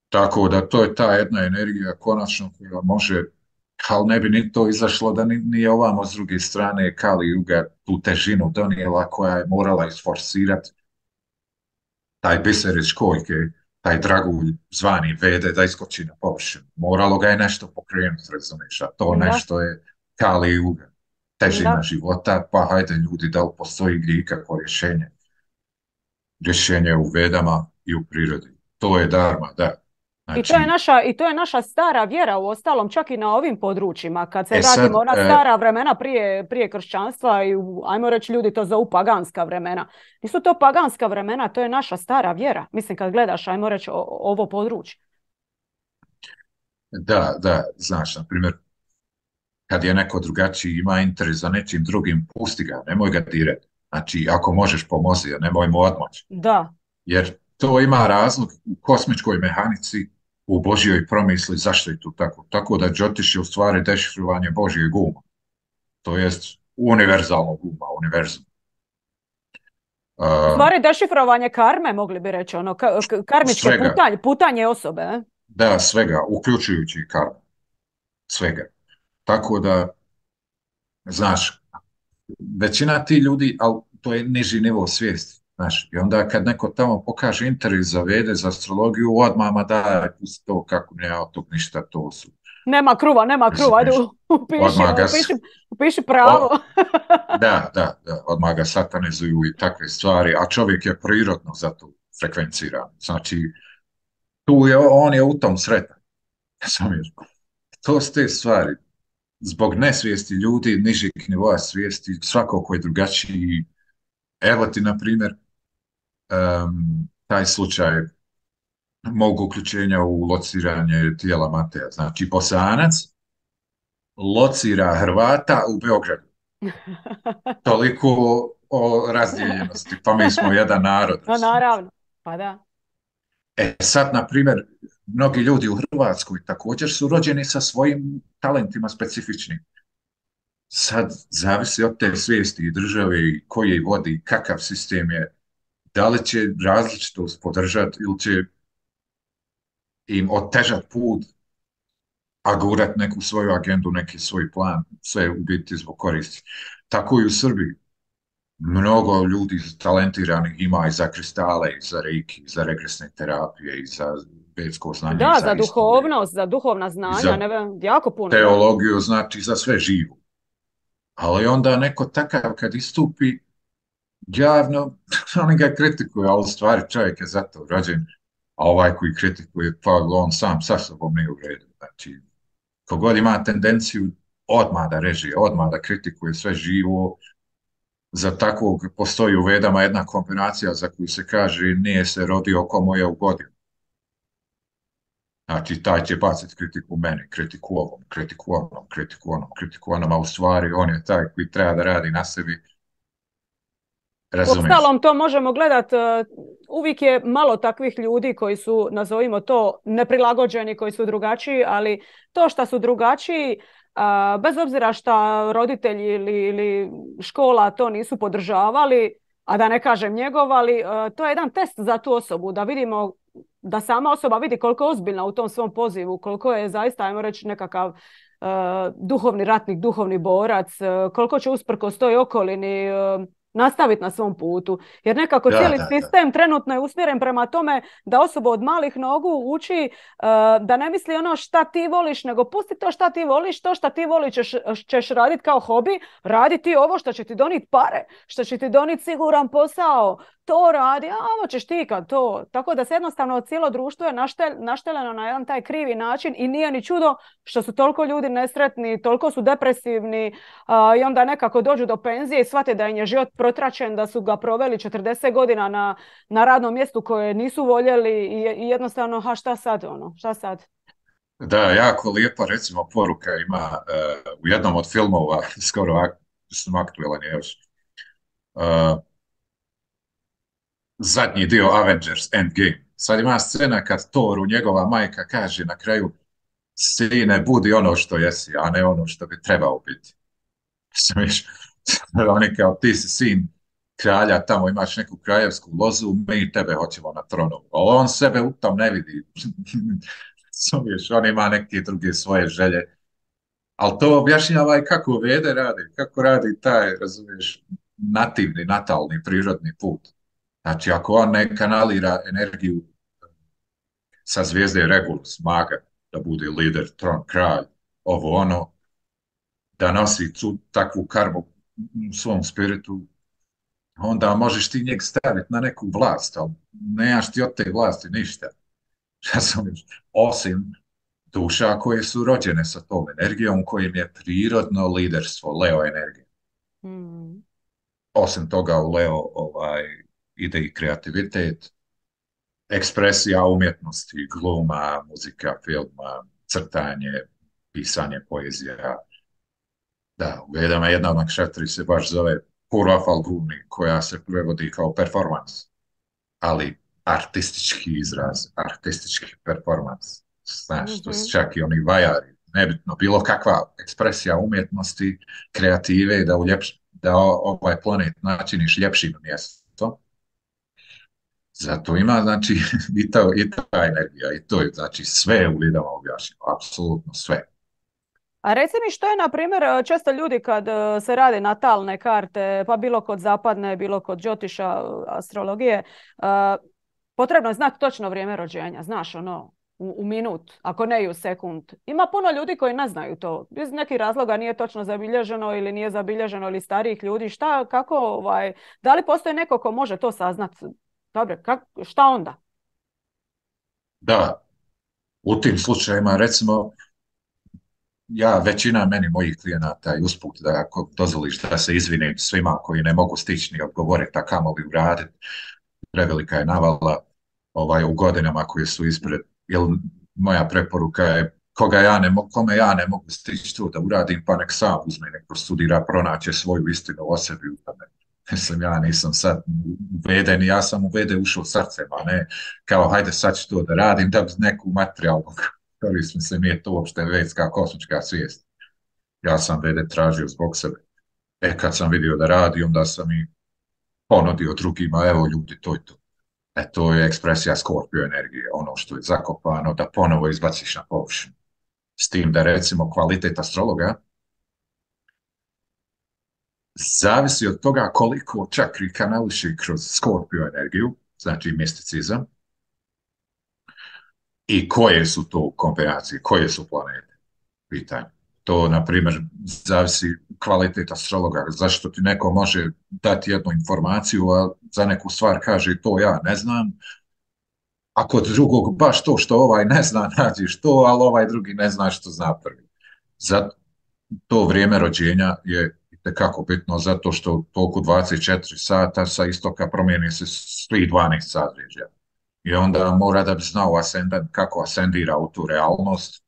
Tako da to je ta jedna energija konačno koja može, ali ne bi ni to izašlo da nije ovamo s druge strane Kali Juga tu težinu donijela koja je morala isforsirati taj biser iz školjke, taj dragulj zvani Vede da iskoči na površinu. Moralo ga je nešto pokrenuti, razumiješ, a to nešto je Kali Juga, težina života, pa hajde ljudi, da li postoji gdje ikakvo rješenje. Rješenje u Vedama i u prirodi. To je dharma, da. Znači, I to je naša stara vjera, u ostalom čak i na ovim područjima, kad se vratimo ona stara vremena prije kršćanstva i ajmo reći ljudi to zovu paganska vremena. Nisu to paganska vremena, to je naša stara vjera. Mislim kad gledaš, ajmo reći ovo područje. Da, znaš, na primjer, kad je neko drugačiji ima interes za nečim drugim, pusti ga, nemoj ga dirati. Znači, ako možeš pomozi, nemoj mu odmoći. Da. Jer to ima razlog u kosmičkoj mehanici, u Božjoj promisli zašto je to tako. Tako da Džotiš je u stvari dešifrovanje Božjeg uma. To jest univerzalnog uma, univerzum. U stvari dešifrovanje karme, mogli bi reći, ono, karmičke putanje osobe. Da, svega, uključujući i karmu. Svega. Tako da, znaš, većina ti ljudi, ali to je niži nivo svijesti. Znaš, i onda kad neko tamo pokaže interes za Vede, za astrologiju, odmah daj, pusti to kako ne od tog ništa, to su. Nema kruva, ajde upiši pravo. Da, odmah ga satanizuju i takve stvari, a čovjek je prirodno za to frekvenciran. Znači, on je u tom sretan. Razumiješ? To su te stvari. Zbog nesvijesti ljudi, nižeg nivoa svijesti, svako ko je drugačiji. Evo ti, na primjer, taj slučaj mog uključenja u lociranje tijela Mateja. Znači, Bosanac locira Hrvata u Beogradu. Toliko o razdijeljenosti. Pa mi smo jedan narod. No, naravno. Pa da. Sad, na primjer, mnogi ljudi u Hrvatskoj također su rođeni sa svojim talentima specifičnim. Sad, zavisi od te svijesti i države i koji je vodi, kakav sistem je, da li će različitost podržati ili će im otežati put, a gurat neku svoju agendu, neki svoj plan, sve u biti zbog koristi. Tako i u Srbiji. Mnogo ljudi talentiranih ima i za kristale, i za reiki, i za regresne terapije, i za vedsko znanje, da, i za duhovnost, za duhovna znanja, ne vem, jako puno. Teologiju, znači za sve živo. Ali onda neko takav kad istupi javno, oni ga kritikuju, ali u stvari čovjek je zato rođen, a ovaj koji kritikuje, pa on sam sa sobom nije u redu. Znači, kogod ima tendenciju odmah da režije, odmah da kritikuje sve živo, za takvog postoji u vedama jedna kombinacija za koju se kaže nije se rodio komu je ugodio. Znači, taj će baciti kritiku meni, kritiku ovom, kritiku onom, kritiku onom, kritiku onom, a u stvari on je taj koji treba da radi na sebi. Razumiješ? Ostalom to možemo gledati, uvijek je malo takvih ljudi koji su, nazovimo to, neprilagođeni, koji su drugačiji, ali to što su drugačiji, bez obzira što roditelji ili škola to nisu podržavali, a da ne kažem njegovali, to je jedan test za tu osobu, da vidimo, da sama osoba vidi koliko je ozbiljna u tom svom pozivu, koliko je zaista, ajmo reći, nekakav duhovni ratnik, duhovni borac, koliko će usprkos toj okolini nastaviti na svom putu. Jer nekako cijeli sistem trenutno je usmjeren prema tome da osoba od malih nogu uči da ne misli ono šta ti voliš, nego pusti to šta ti voliš, to šta ti voliš ćeš raditi kao hobi, radi ti ovo što će ti doniti pare, što će ti doniti siguran posao, to radi, a ovo ćeš ti kad to. Tako da se jednostavno cijelo društvo je našteleno na jedan taj krivi način i nije ni čudo što su toliko ljudi nesretni, toliko su depresivni i onda nekako dođu do penzije i shvate da im je život protračen, da su ga proveli 40 godina na radnom mjestu koje nisu voljeli i jednostavno, šta sad ono, šta sad? Da, jako lijepa recimo poruka ima u jednom od filmova, skoro sam aktuelan je još, zadnji dio Avengers Endgame. Sad ima scena kad Thoru njegova majka kaže na kraju: sine, budi ono što jesi, a ne ono što bi trebao biti. Smiš, oni kao ti si sin kralja, tamo imaš neku kraljevsku lozu, mi tebe hoćemo na tronu. Ali on sebe u tom ne vidi. Smiš, on ima neke druge svoje želje. Ali to objašnjava i kako vede radi, kako radi taj, razumiješ, nativni, natalni, prirodni put. Znači, ako on ne kanalira energiju sa zvijezde Regulus, maga, da bude lider, tron, kralj, ovo ono, da nosi takvu karmu u svom spiritu, onda možeš ti njeg staviti na neku vlast, ali nemaš ti od te vlasti ništa. Osim duša koje su rođene sa tom energijom, kojim je prirodno liderstvo, Leo energija. Osim toga u Leo ide i kreativitet, ekspresija umjetnosti, gluma, muzika, filma, crtanje, pisanje, poezija. Da, u vedama jedna od nakšatri se baš zove Purva Falguni, koja se prevodi kao performans, ali artistički izraz, artistički performans. Znaš, to su čak i oni vajari, nebitno, bilo kakva ekspresija umjetnosti, kreative, da ovaj planet načiniš ljepšim mjestom. Zato ima, znači, i ta energija, i to je, znači, sve u vidama objašnjeno, apsolutno sve. A reci mi što je, na primjer, često ljudi kad se rade natalne karte, pa bilo kod zapadne, bilo kod džotiša, astrologije, potrebno je znati točno vrijeme rođenja, znaš, ono, u minut, ako ne i u sekund. Ima puno ljudi koji ne znaju to. Iz nekih razloga nije točno zabilježeno ili nije zabilježeno ili starijih ljudi. Šta, kako, da li postoji neko ko može to saznati? Dobro, šta onda? Da, U tim slučajevima, recimo, većina mojih klijenata i usput da ako dozvoliš da se izvinim svima koji ne mogu stići ni odgovoriti, a kamoli uraditi, prevelika je navala u godinama koje su ispred, jer moja preporuka je kome ja ne mogu stići to da uradim, pa nek sam uzme, nek prostudira, pronaće svoju istinu o sebi u tome. Mislim, ja nisam sad uveden, ja sam uveden ušao srcem, a ne kao hajde sad ću to da radim da bi neku materijalnu korist, mislim, nije to uopšte vedska kosmička svijest. Ja sam vede tražio zbog sebe. Kad sam vidio da radi, onda sam i ponudio drugima, evo ljudi, to je to. To je ekspresija Skorpio energije, ono što je zakopano, da ponovo izbaciš na površinu. S tim da recimo kvalitet astrologa zavisi od toga koliko čakri kanališi kroz Skorpio energiju, znači misticizam, i koje su to kombinacije, koje su planete, pitanje. To, na primjer, zavisi kvalitet astrologa, zašto ti neko može dati jednu informaciju, a za neku stvar kaže to ja ne znam, a kod drugog baš to što ovaj ne zna nađeš to, ali ovaj drugi ne zna što zna prvi. Zato to vrijeme rođenja je itekako bitno, zato što toku 24 sata sa istoka promijeni se svih 12 sadređaja. I onda mora da bi znao ascendent kako ascendira u tu realnost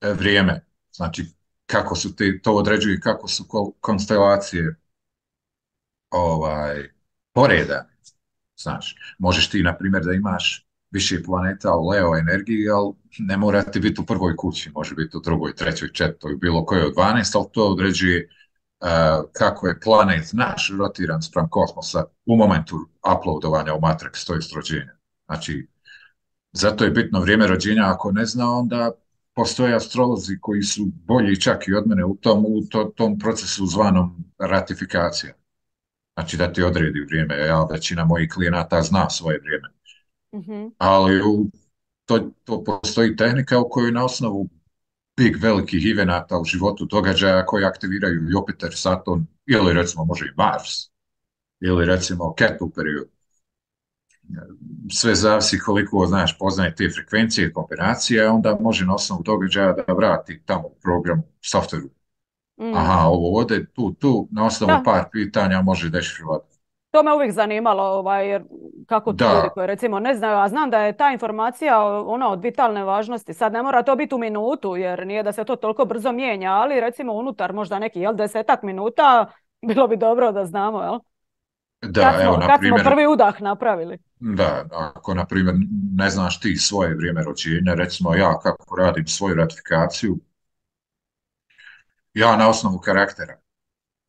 vrijeme. Znači, kako su to određuju, kako su konstelacije poredane. Znači, možeš ti, na primjer, da imaš više planeta u Leo energiji, ali ne mora ti biti u prvoj kući, može biti u drugoj, trećoj, četvrtoj, bilo kojoj od 12, ali to određuje kako je planet naš rotiran spram kosmosa u momentu uploadovanja u Matrix, to je rođenja. Znači, zato je bitno vrijeme rođenja, ako ne zna, onda postoje astrolozi koji su bolji čak i od mene u tom procesu zvanom ratifikacija. Znači da ti odredi vrijeme, većina mojih klijenata zna svoje vrijeme. Mm-hmm. Ali to postoji tehnika u kojoj na osnovu velikih evenata u životu događaja koji aktiviraju Jupiter, Saturn ili recimo može i Mars ili recimo Ketu period. Sve zavisi koliko poznaje te frekvencije i kombinacije, onda može na osnovu događaja da vrati tamo u programu, softveru. Aha, ovo ode tu, na osnovu par pitanja može dešifrovati. To me uvijek zanimalo, jer kako ti ljudi koji recimo ne znaju, a znam da je ta informacija od vitalne važnosti. Sad ne mora to biti u minutu, jer nije da se to toliko brzo mijenja, ali recimo unutar možda neki 10 minuta bilo bi dobro da znamo, jel? Kad smo prvi udah napravili. Da, ako na primjer ne znaš ti svoje vrijeme rođenja, recimo ja kako radim svoju ratifikaciju, ja na osnovu karaktera.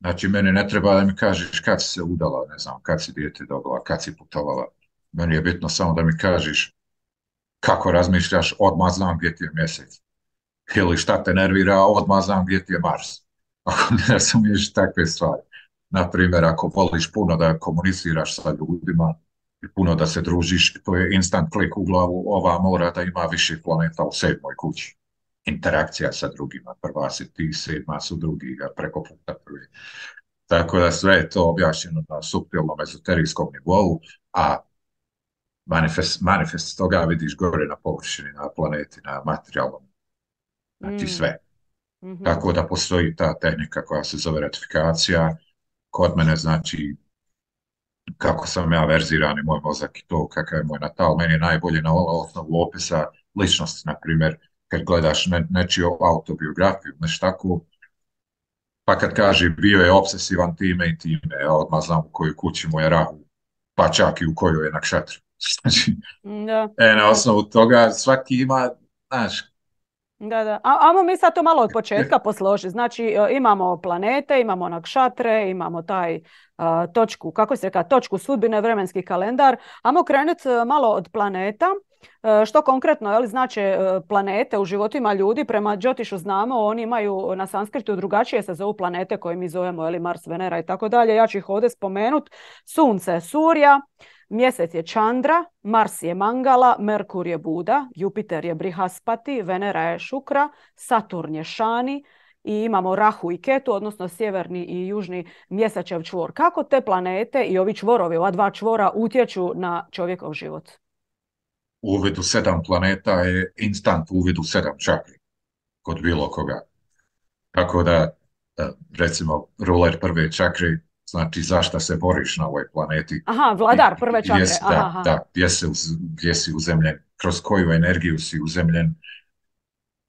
Znači, meni ne treba da mi kažeš kad si se udala, ne znam, kad si dijete dobila, kad si putovala. Meni je bitno samo da mi kažeš kako razmišljaš, odmah znam gdje ti je mjesec. Ili šta te nervira, odmah znam gdje ti je Mars. Ako ne razumiješ takve stvari. Naprimjer, ako voliš puno da komuniciraš sa ljudima i puno da se družiš, to je instant klik u glavu, ova mora da ima više planeta u 7. kući. Interakcija sa drugima, prva si ti, 7. su drugi, preko puta prvi. Tako da sve je to objašnjeno na suptilnom ezoterijskom nivou, a manifest toga vidiš gore na površini, na planeti, na materijalnom. Znači sve. Mm-hmm. Tako da postoji ta tehnika koja se zove ratifikacija. Kod mene znači kako sam ja verziran i moj mozak i to kakav je moj natal. Meni je najbolje na osnovu opisa ličnosti, na primjer, kad gledaš nečiju autobiografiju, nešto tako, pa kad kaže bio je obsesivan time i time, ja odmah znam u kojoj kući mu je Rahu, pa čak i u kojoj je nakšatri. Znači, na osnovu toga svaki ima, znaš. Da. Ajmo mi sad to malo od početka posložiti. Znači, imamo planete, imamo nakšatre, imamo taj točku, kako se reka, točku sudbine, vremenski kalendar. Ajmo krenuti malo od planeta. Što konkretno znače planete u životima ljudi? Prema Džotišu znamo, oni imaju na sanskritu drugačije se zovu planete koje mi zovemo Mars, Venera i tako dalje. Ja ću ih ovdje spomenuti. Sunce je Surja, Mjesec je Čandra, Mars je Mangala, Merkur je Buda, Jupiter je Brihaspati, Venera je Šukra, Saturn je Šani i imamo Rahu i Ketu, odnosno sjeverni i južni mjesečev čvor. Kako te planete i ovi čvorovi, ova dva čvora utječu na čovjekov život? uvid u 7 planeta je instant uvid u 7 čakri kod bilo koga. Tako da, recimo, ruler prve čakre, znači zašto se boriš na ovoj planeti. Aha, vladar prve čakre. Da, gdje si uzemljen, kroz koju energiju si uzemljen,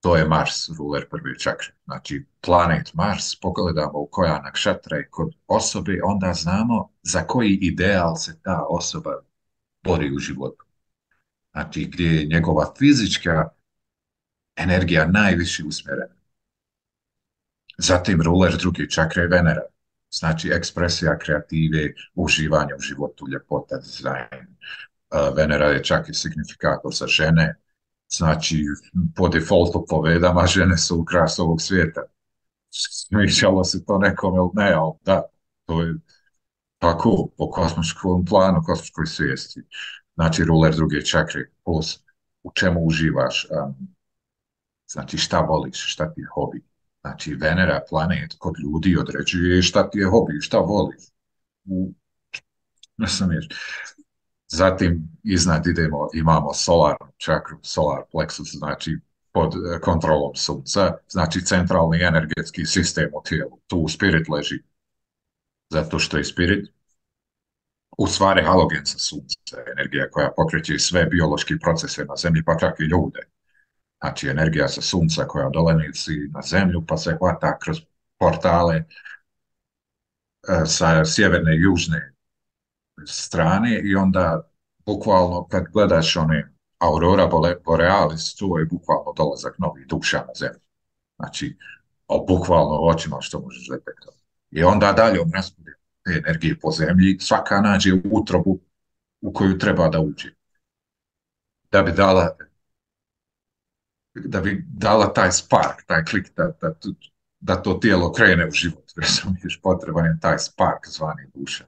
to je Mars, ruler prve čakre. Znači, planet Mars, pogledamo u koja nakšatra je kod osobe, onda znamo za koji ideal se ta osoba bori u životu. Znači, gdje je njegova fizička energija najviše usmjerena. Zatim ruler druge čakre je Venera. Znači, ekspresija kreative, uživanje u životu, ljepota, dizajn. Venera je čak i signifikator za žene. Znači, po defaultu po vedama, žene su ukras ovog svijeta. Smišalo se to nekom ili ne, ali da, to je tako po kosmičkom planu, kosmičkoj svijesti. Znači, ruler druge čakre, plus u čemu uživaš, znači šta voliš, šta ti je hobi. Znači, Venera, planet, kod ljudi određuje šta ti je hobi, šta voliš. Ne sam ješ. Zatim, iznad imamo solarnu čakru, solar plexus, znači pod kontrolom sunca, znači centralni energetski sistem u tijelu. Tu spirit leži. Zato što je spirit u stvari halogen sa sunca, energija koja pokreće sve biološki procese na zemlji, pa čak i ljude. Znači, energija sa sunca koja dolazi na zemlju, pa se hvata kroz portale sa sjeverne i južne strane i onda bukvalno kad gledaš one aurora borealis, to je bukvalno dolazak novih duša na zemlju. Znači, bukvalno očima što možeš detektovati. I onda dalje raspodijelu te energije po zemlji, svaka nađe utrobu u koju treba da uđe. Da bi dala taj spark, taj klik, da to tijelo krene u život. Razumiješ, potreban je taj spark zvani duša.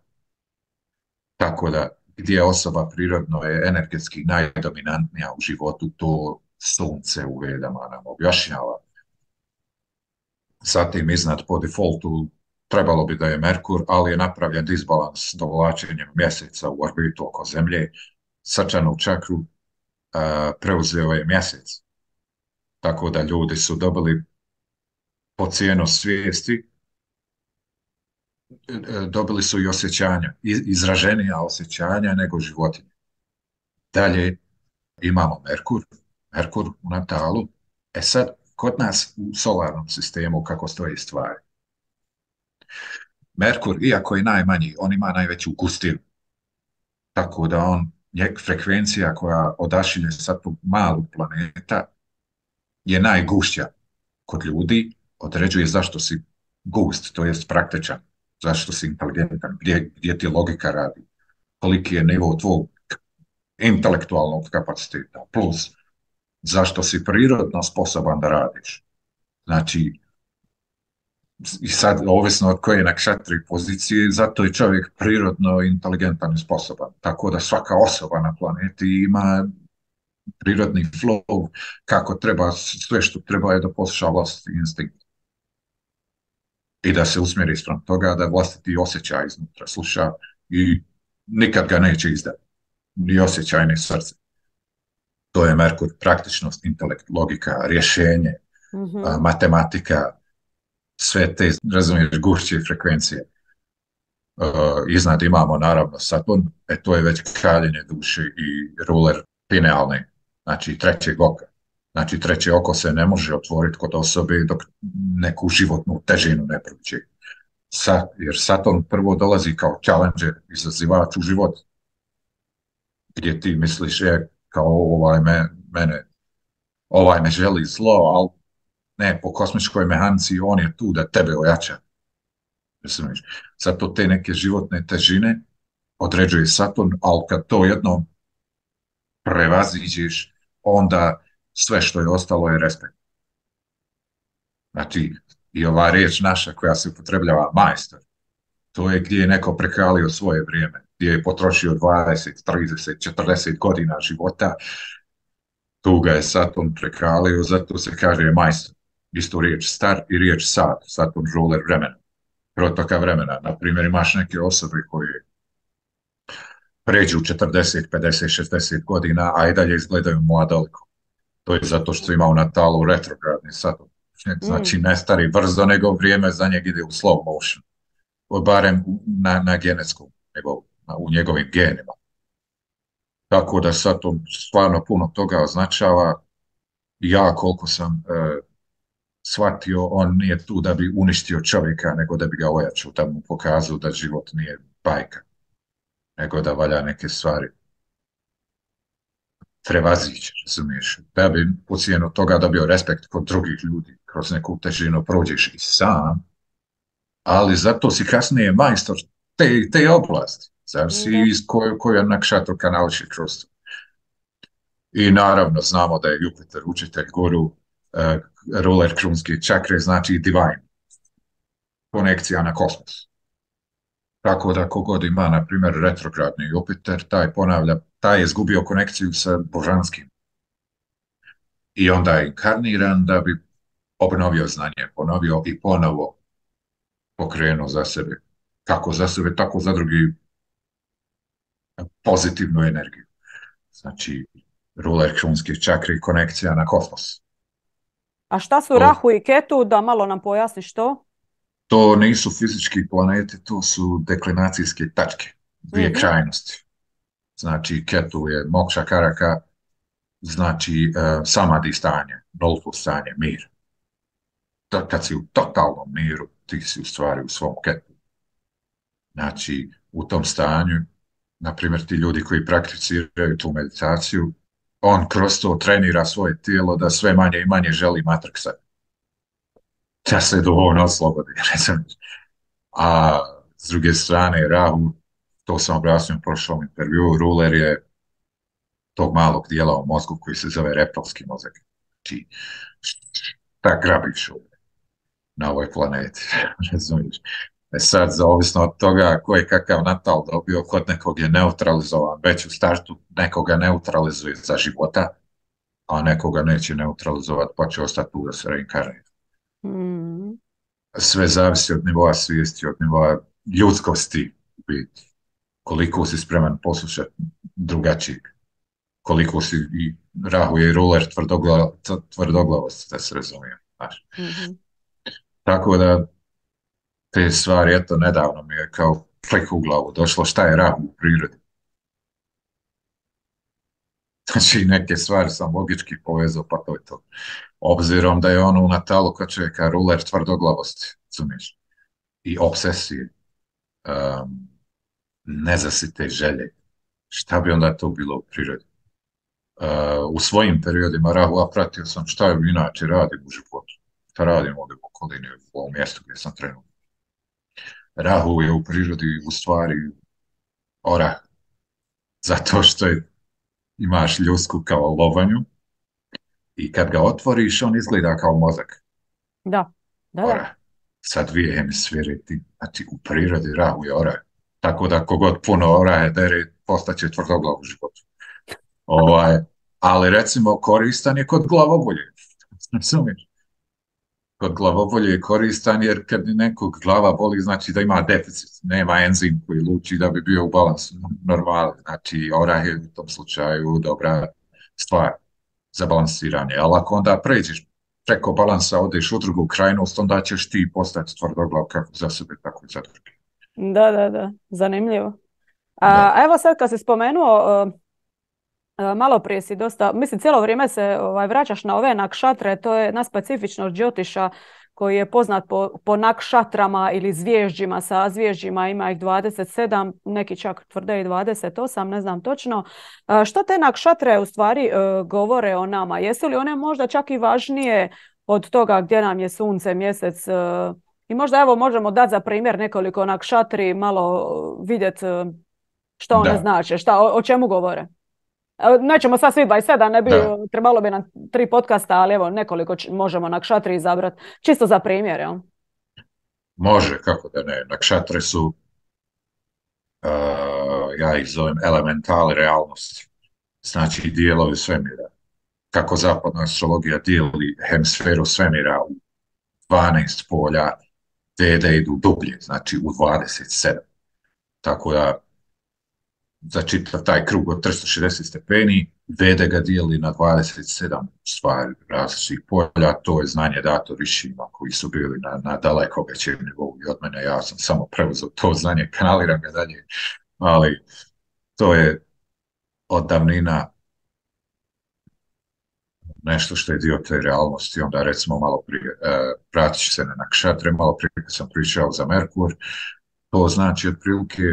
Tako da, gdje osoba prirodno je energetski najdominantnija u životu, to sunce u vedama nam objašnjava. Zatim, iznad po defaultu, trebalo bi da je Merkur, ali je napravljen disbalans dovlačenjem mjeseca u orbitu oko Zemlje. Srčanu čakru preuzeo je mjesec. Tako da ljudi su dobili po cijenu svijesti, dobili su i osjećanja, izraženija osjećanja nego životinje. Dalje imamo Merkur u natalu. Sad, kod nas u solarnom sistemu kako stoji stvari. Merkur, iako je najmanji, on ima najveću gustinu. Tako da frekvencija koja odašilje sa tog malog planeta je najgušća kod ljudi, određuje zašto si gust, to jest praktičan, zašto si inteligentan, gdje ti logika radi, koliki je nivo tvog intelektualnog kapaciteta, plus zašto si prirodno sposoban da radiš. Znači, i sad, ovisno od koje nakšatri pozicije, zato je čovjek prirodno inteligentan i sposoban. Tako da svaka osoba na planeti ima prirodni flow, kako treba, sve što treba je da posluša vlastiti instinkt. I da se usmjeri spram toga, da vlastiti osjećaj iznutra sluša i nikad ga neće izdati. Ni osjećaj, ni srce. To je Merkur, praktičnost, intelekt, logika, rješenje, matematika, sve te, razumiješ, gušće frekvencije. Iznad imamo naravno Saturn, to je već kraljenje duše i ruler pinealne, znači trećeg oka. Znači treće oko se ne može otvoriti kod osobe dok neku životnu težinu ne prođe. Jer Saturn prvo dolazi kao challenger, izazivač u život, gdje ti misliš kao ovaj me želi zlo, ali ne, po kosmičkoj mehanici on je tu da tebe ojača. Zato te neke životne težine određuje Saturn, ali kad to jednom prevaziđeš, onda sve što je ostalo je respekt. Znači, i ova riječ naša koja se upotrebljava majstor, to je gdje je neko prekalio svoje vrijeme, gdje je potrošio 20, 30, 40 godina života, tu ga je Saturn prekalio, zato se kaže majstor. Istu riječ star i riječ sat, Saturn ruler vremena, protoka vremena. Naprimjer, imaš neke osobe koje pređu 40, 50, 60 godina, a i dalje izgledaju mladoliko. To je zato što ima u natalu retrogradni Saturn. Znači ne stari brzo, nego vrijeme za njeg ide u slow motion. Barem na genetskom, nego u njegovim genima. Tako da Saturn stvarno puno toga označava. Ja koliko sam shvatio, on nije tu da bi uništio čovjeka, nego da bi ga ojačao, da mu pokazao da život nije bajka, nego da valja neke stvari prevazići, razumiješ, da bi po cijenu toga dobio respekt kod drugih ljudi, kroz neku težinu prođeš i sam, ali zato si kasnije majstor te oblasti, zavisi iz koju nakšatru kanališi kroz to. I naravno znamo da je Jupiter učitelj guru, ruler krunske čakre, znači divine, konekcija na kosmos. Tako da kogod ima, na primjer, retrogradni Jupiter, taj je izgubio konekciju sa božanskim. I onda je inkarniran da bi obnovio znanje, ponovio i ponovo pokrenuo za sebe. Kako za sebe, tako za drugi pozitivnu energiju. Znači, ruler krunske čakre i konekcija na kosmos. A šta su Rahu i Ketu, da malo nam pojasniš to? To nisu fizički planeti, to su deklinacijske tačke, dvije krajnosti. Znači, Ketu je mokša karaka, znači samadhi stanje, nulto stanje, mir. Kad si u totalnom miru, ti si u stvari u svom Ketu. Znači, u tom stanju, na primjer, ti ljudi koji prakticiraju tu meditaciju, on kroz to trenira svoje tijelo da sve manje i manje želi matriksa. Da se duhovno oslobodi. A s druge strane, Rahu, to sam objasnio u prošlom intervju, ruler je tog malog dijela u mozgu koji se zove reptilski mozak. Znači, šta grabiš na ovoj planeti, razumiješ? Sad, zavisno od toga ko je kakav natal dobio, kod nekog je neutralizovan, već u startu nekoga neutralizuje za života, a nekoga neće neutralizovati, pa će ostati tu da se reinkarnira. Sve zavisi od nivoa svijesti, od nivoa ljudskosti, koliko si spreman poslušati drugačijeg, koliko si, i Rahu je ruler tvrdoglavosti, da se razumije. Tako da te stvari, eto, nedavno mi je kao klik u glavu došlo šta je Rahu u prirodi. Znači, neke stvari sam logički povezao, pa to je to. Obzirom da je ono u natalu kod čovjeka ruler tvrdoglavosti, razumiješ, i obsesije, nezasite želje. Šta bi onda to bilo u prirodi? U svojim periodima Rahu, a pratio sam šta je inače radim u životu. Šta radim ovdje u okolini, u ovom mjestu gdje sam trenutno. Rahu je u prirodi u stvari orah. Zato što imaš ljusku kao lovanju i kad ga otvoriš, on izgleda kao mozak. Da. Orah. Sa dvije hemisfere, znači u prirodi Rahu je orah. Tako da kogod puno orahe dere, postaće tvrdoglav u životu. Ali recimo koristan je kod glavobolje. Razumiješ? Kod glavobolje je koristan jer kad nekog glava boli, znači da ima deficit, nema enzim koji luči da bi bio u balansu normalno. Znači orah je u tom slučaju dobra stvar za balansiranje. Ali ako onda pređeš preko balansa, odeš u drugu krajnost, onda ćeš ti postati tvrdoglav kako za sebe, tako i za druge. Da. Zanimljivo. Evo sad kad si spomenuo, malo prije si dosta, mislim cijelo vrijeme se vraćaš na ove nakšatre, to je jedna specifičnost Džotiša koji je poznat po nakšatrama ili zvježđima, sa zvježđima, ima ih 27, neki čak tvrde i 28, ne znam točno. Što te nakšatre u stvari govore o nama? Jesu li one možda čak i važnije od toga gdje nam je sunce, mjesec? I možda evo možemo dati za primjer nekoliko nakšatri, malo vidjeti što one znače, o čemu govore. Nećemo sad svi 27, ne bi, trebalo bi nam 3 podcasta, ali evo nekoliko možemo nakšatri izabrati, čisto za primjer, jel? Može, kako da ne. Nakšatre su, ja ih zovem elementali realnosti, znači dijelovi svemira. Kako zapadna astrologija dijeli hemisferu svemira u 12 polja, te idu dublje, znači u 27. Tako da za čitav taj krug od 360 stepeni, Vede ga dijeli na 27 stvari različitih polja, to je znanje dato Rišima koji su bili na daleko većem nivou i od mene, ja sam samo preuzeo to znanje, kanaliram ga dalje, ali to je od davnina nešto što je dio te realnosti. Onda recimo malo prije, vratit ću se na nakšatre, malo prije kad sam pričao za Merkur, to znači otprilike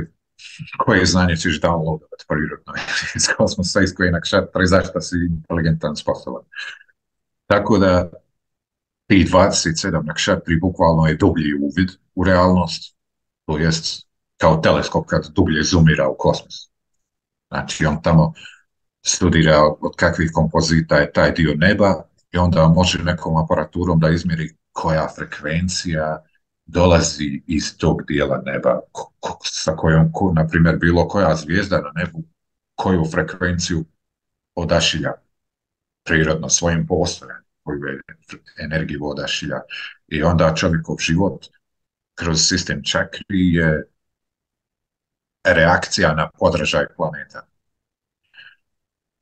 koje znanje ćeš downloadovati prirodno iz kosmosa, iz koje nakšatra i zašto si inteligentan, sposoban. Tako da tih 27 nakšatri bukvalno je dublji uvid u realnost, to jest kao teleskop kad dublje zoomira u kosmos. Znači on tamo studira od kakvih kompozita je taj dio neba i onda može nekom aparaturom da izmjeri koja frekvencija dolazi iz tog dijela neba, sa kojom, na primjer, bilo koja zvijezda na nebu, koju frekvenciju odašilja prirodno svojim postojanjem, koju energiju odašilja. I onda čovjekov život kroz sistem čakri je reakcija na podražaj planeta.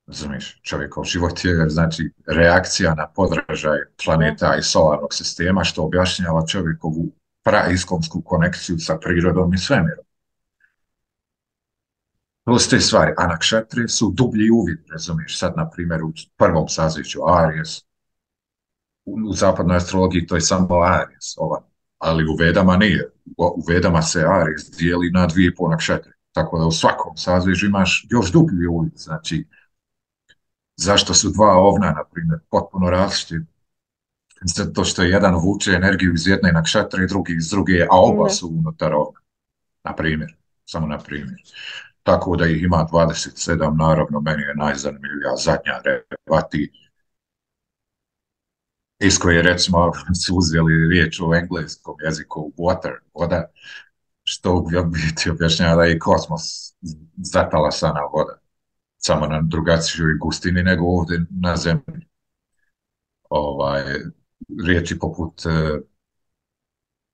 Razumiješ, čovjekov život je znači reakcija na podražaj planeta i solarnog sistema, što objašnjava čovjekovu praiskomsku konekciju sa prirodom i svemirom. To su te stvari, a nakšatre su dublji uvid, razumiješ, sad na primjer u prvom sazvijeću Aries, u zapadnoj astrologiji to je samo Aries, ali u Vedama nije, u Vedama se Aries dijeli na 2,5 nakšatre, tako da u svakom sazvijeću imaš još dublji uvid, znači zašto su dva ovna, na primjer, potpuno različiti? Zato što jedan vuče energiju iz jedne nakšatre i drugi iz druge, a oba su unutar ovna. Na primjer, samo na primjer. Tako da ih ima 27, naravno, meni je najzanimljivija zadnja Revati, iz koje, recimo, su uzeli riječ u engleskom jeziku water, voda, što u biti objašnjava da je kosmos zatalasana voda. Samo na drugačijoj gustini nego ovdje na zemlji. Riječi poput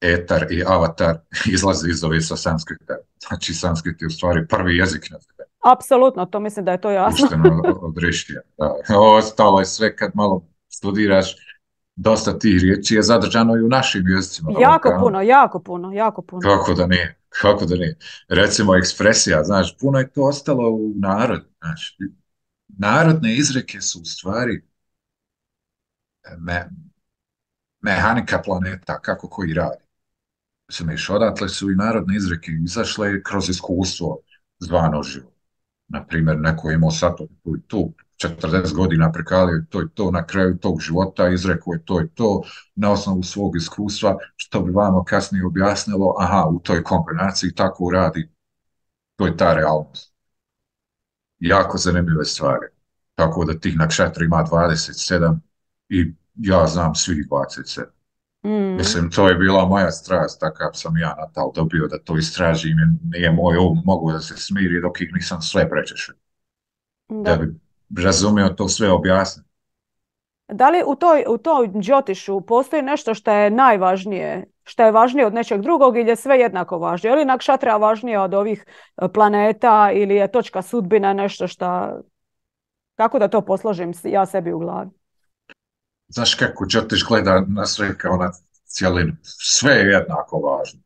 etar i avatar izlaze iz ove sa sanskrita. Znači sanskrit je u stvari prvi jezik na zemlji. Apsolutno, to mislim da je to jasno. Ušteno od Rišija. Ostalo je sve kad malo studiraš, dosta tih riječi je zadržano i u našim jezicima. Jako puno. Kako da nije? Recimo ekspresija, znaš, puno je to ostalo u narodu. Znači, narodne izreke su u stvari mehanika planeta, kako koji radi. Znači, odatle su i narodne izreke izašle kroz iskustvo zvano život. Naprimjer, neko je imao sato tu 40 godina prekalio to i to, na kraju tog života izrekao je to i to, na osnovu svog iskustva, što bi vama kasnije objasnilo, aha, u toj kombinaciji tako radi, to je ta realnost. Jako zanimljive stvari. Tako da tih nakšatra ima 27 i ja znam svih 27. Mislim, to je bila moja strast, takav sam ja natal dobio da to istražim, nije moj mogu da se smiri dok ih nisam sve prečešao. Da bi razumio to sve objasniti. Da li u toj džotišu postoji nešto što je najvažnije, što je važnije od nečeg drugog ili je sve jednako važnije? Je li nakšatra važnija od ovih planeta ili je točka sudbina nešto što... Kako da to posložim ja sebi u glavi? Znaš kako džotiš gleda na sve kao na cijelinu. Sve je jednako važno.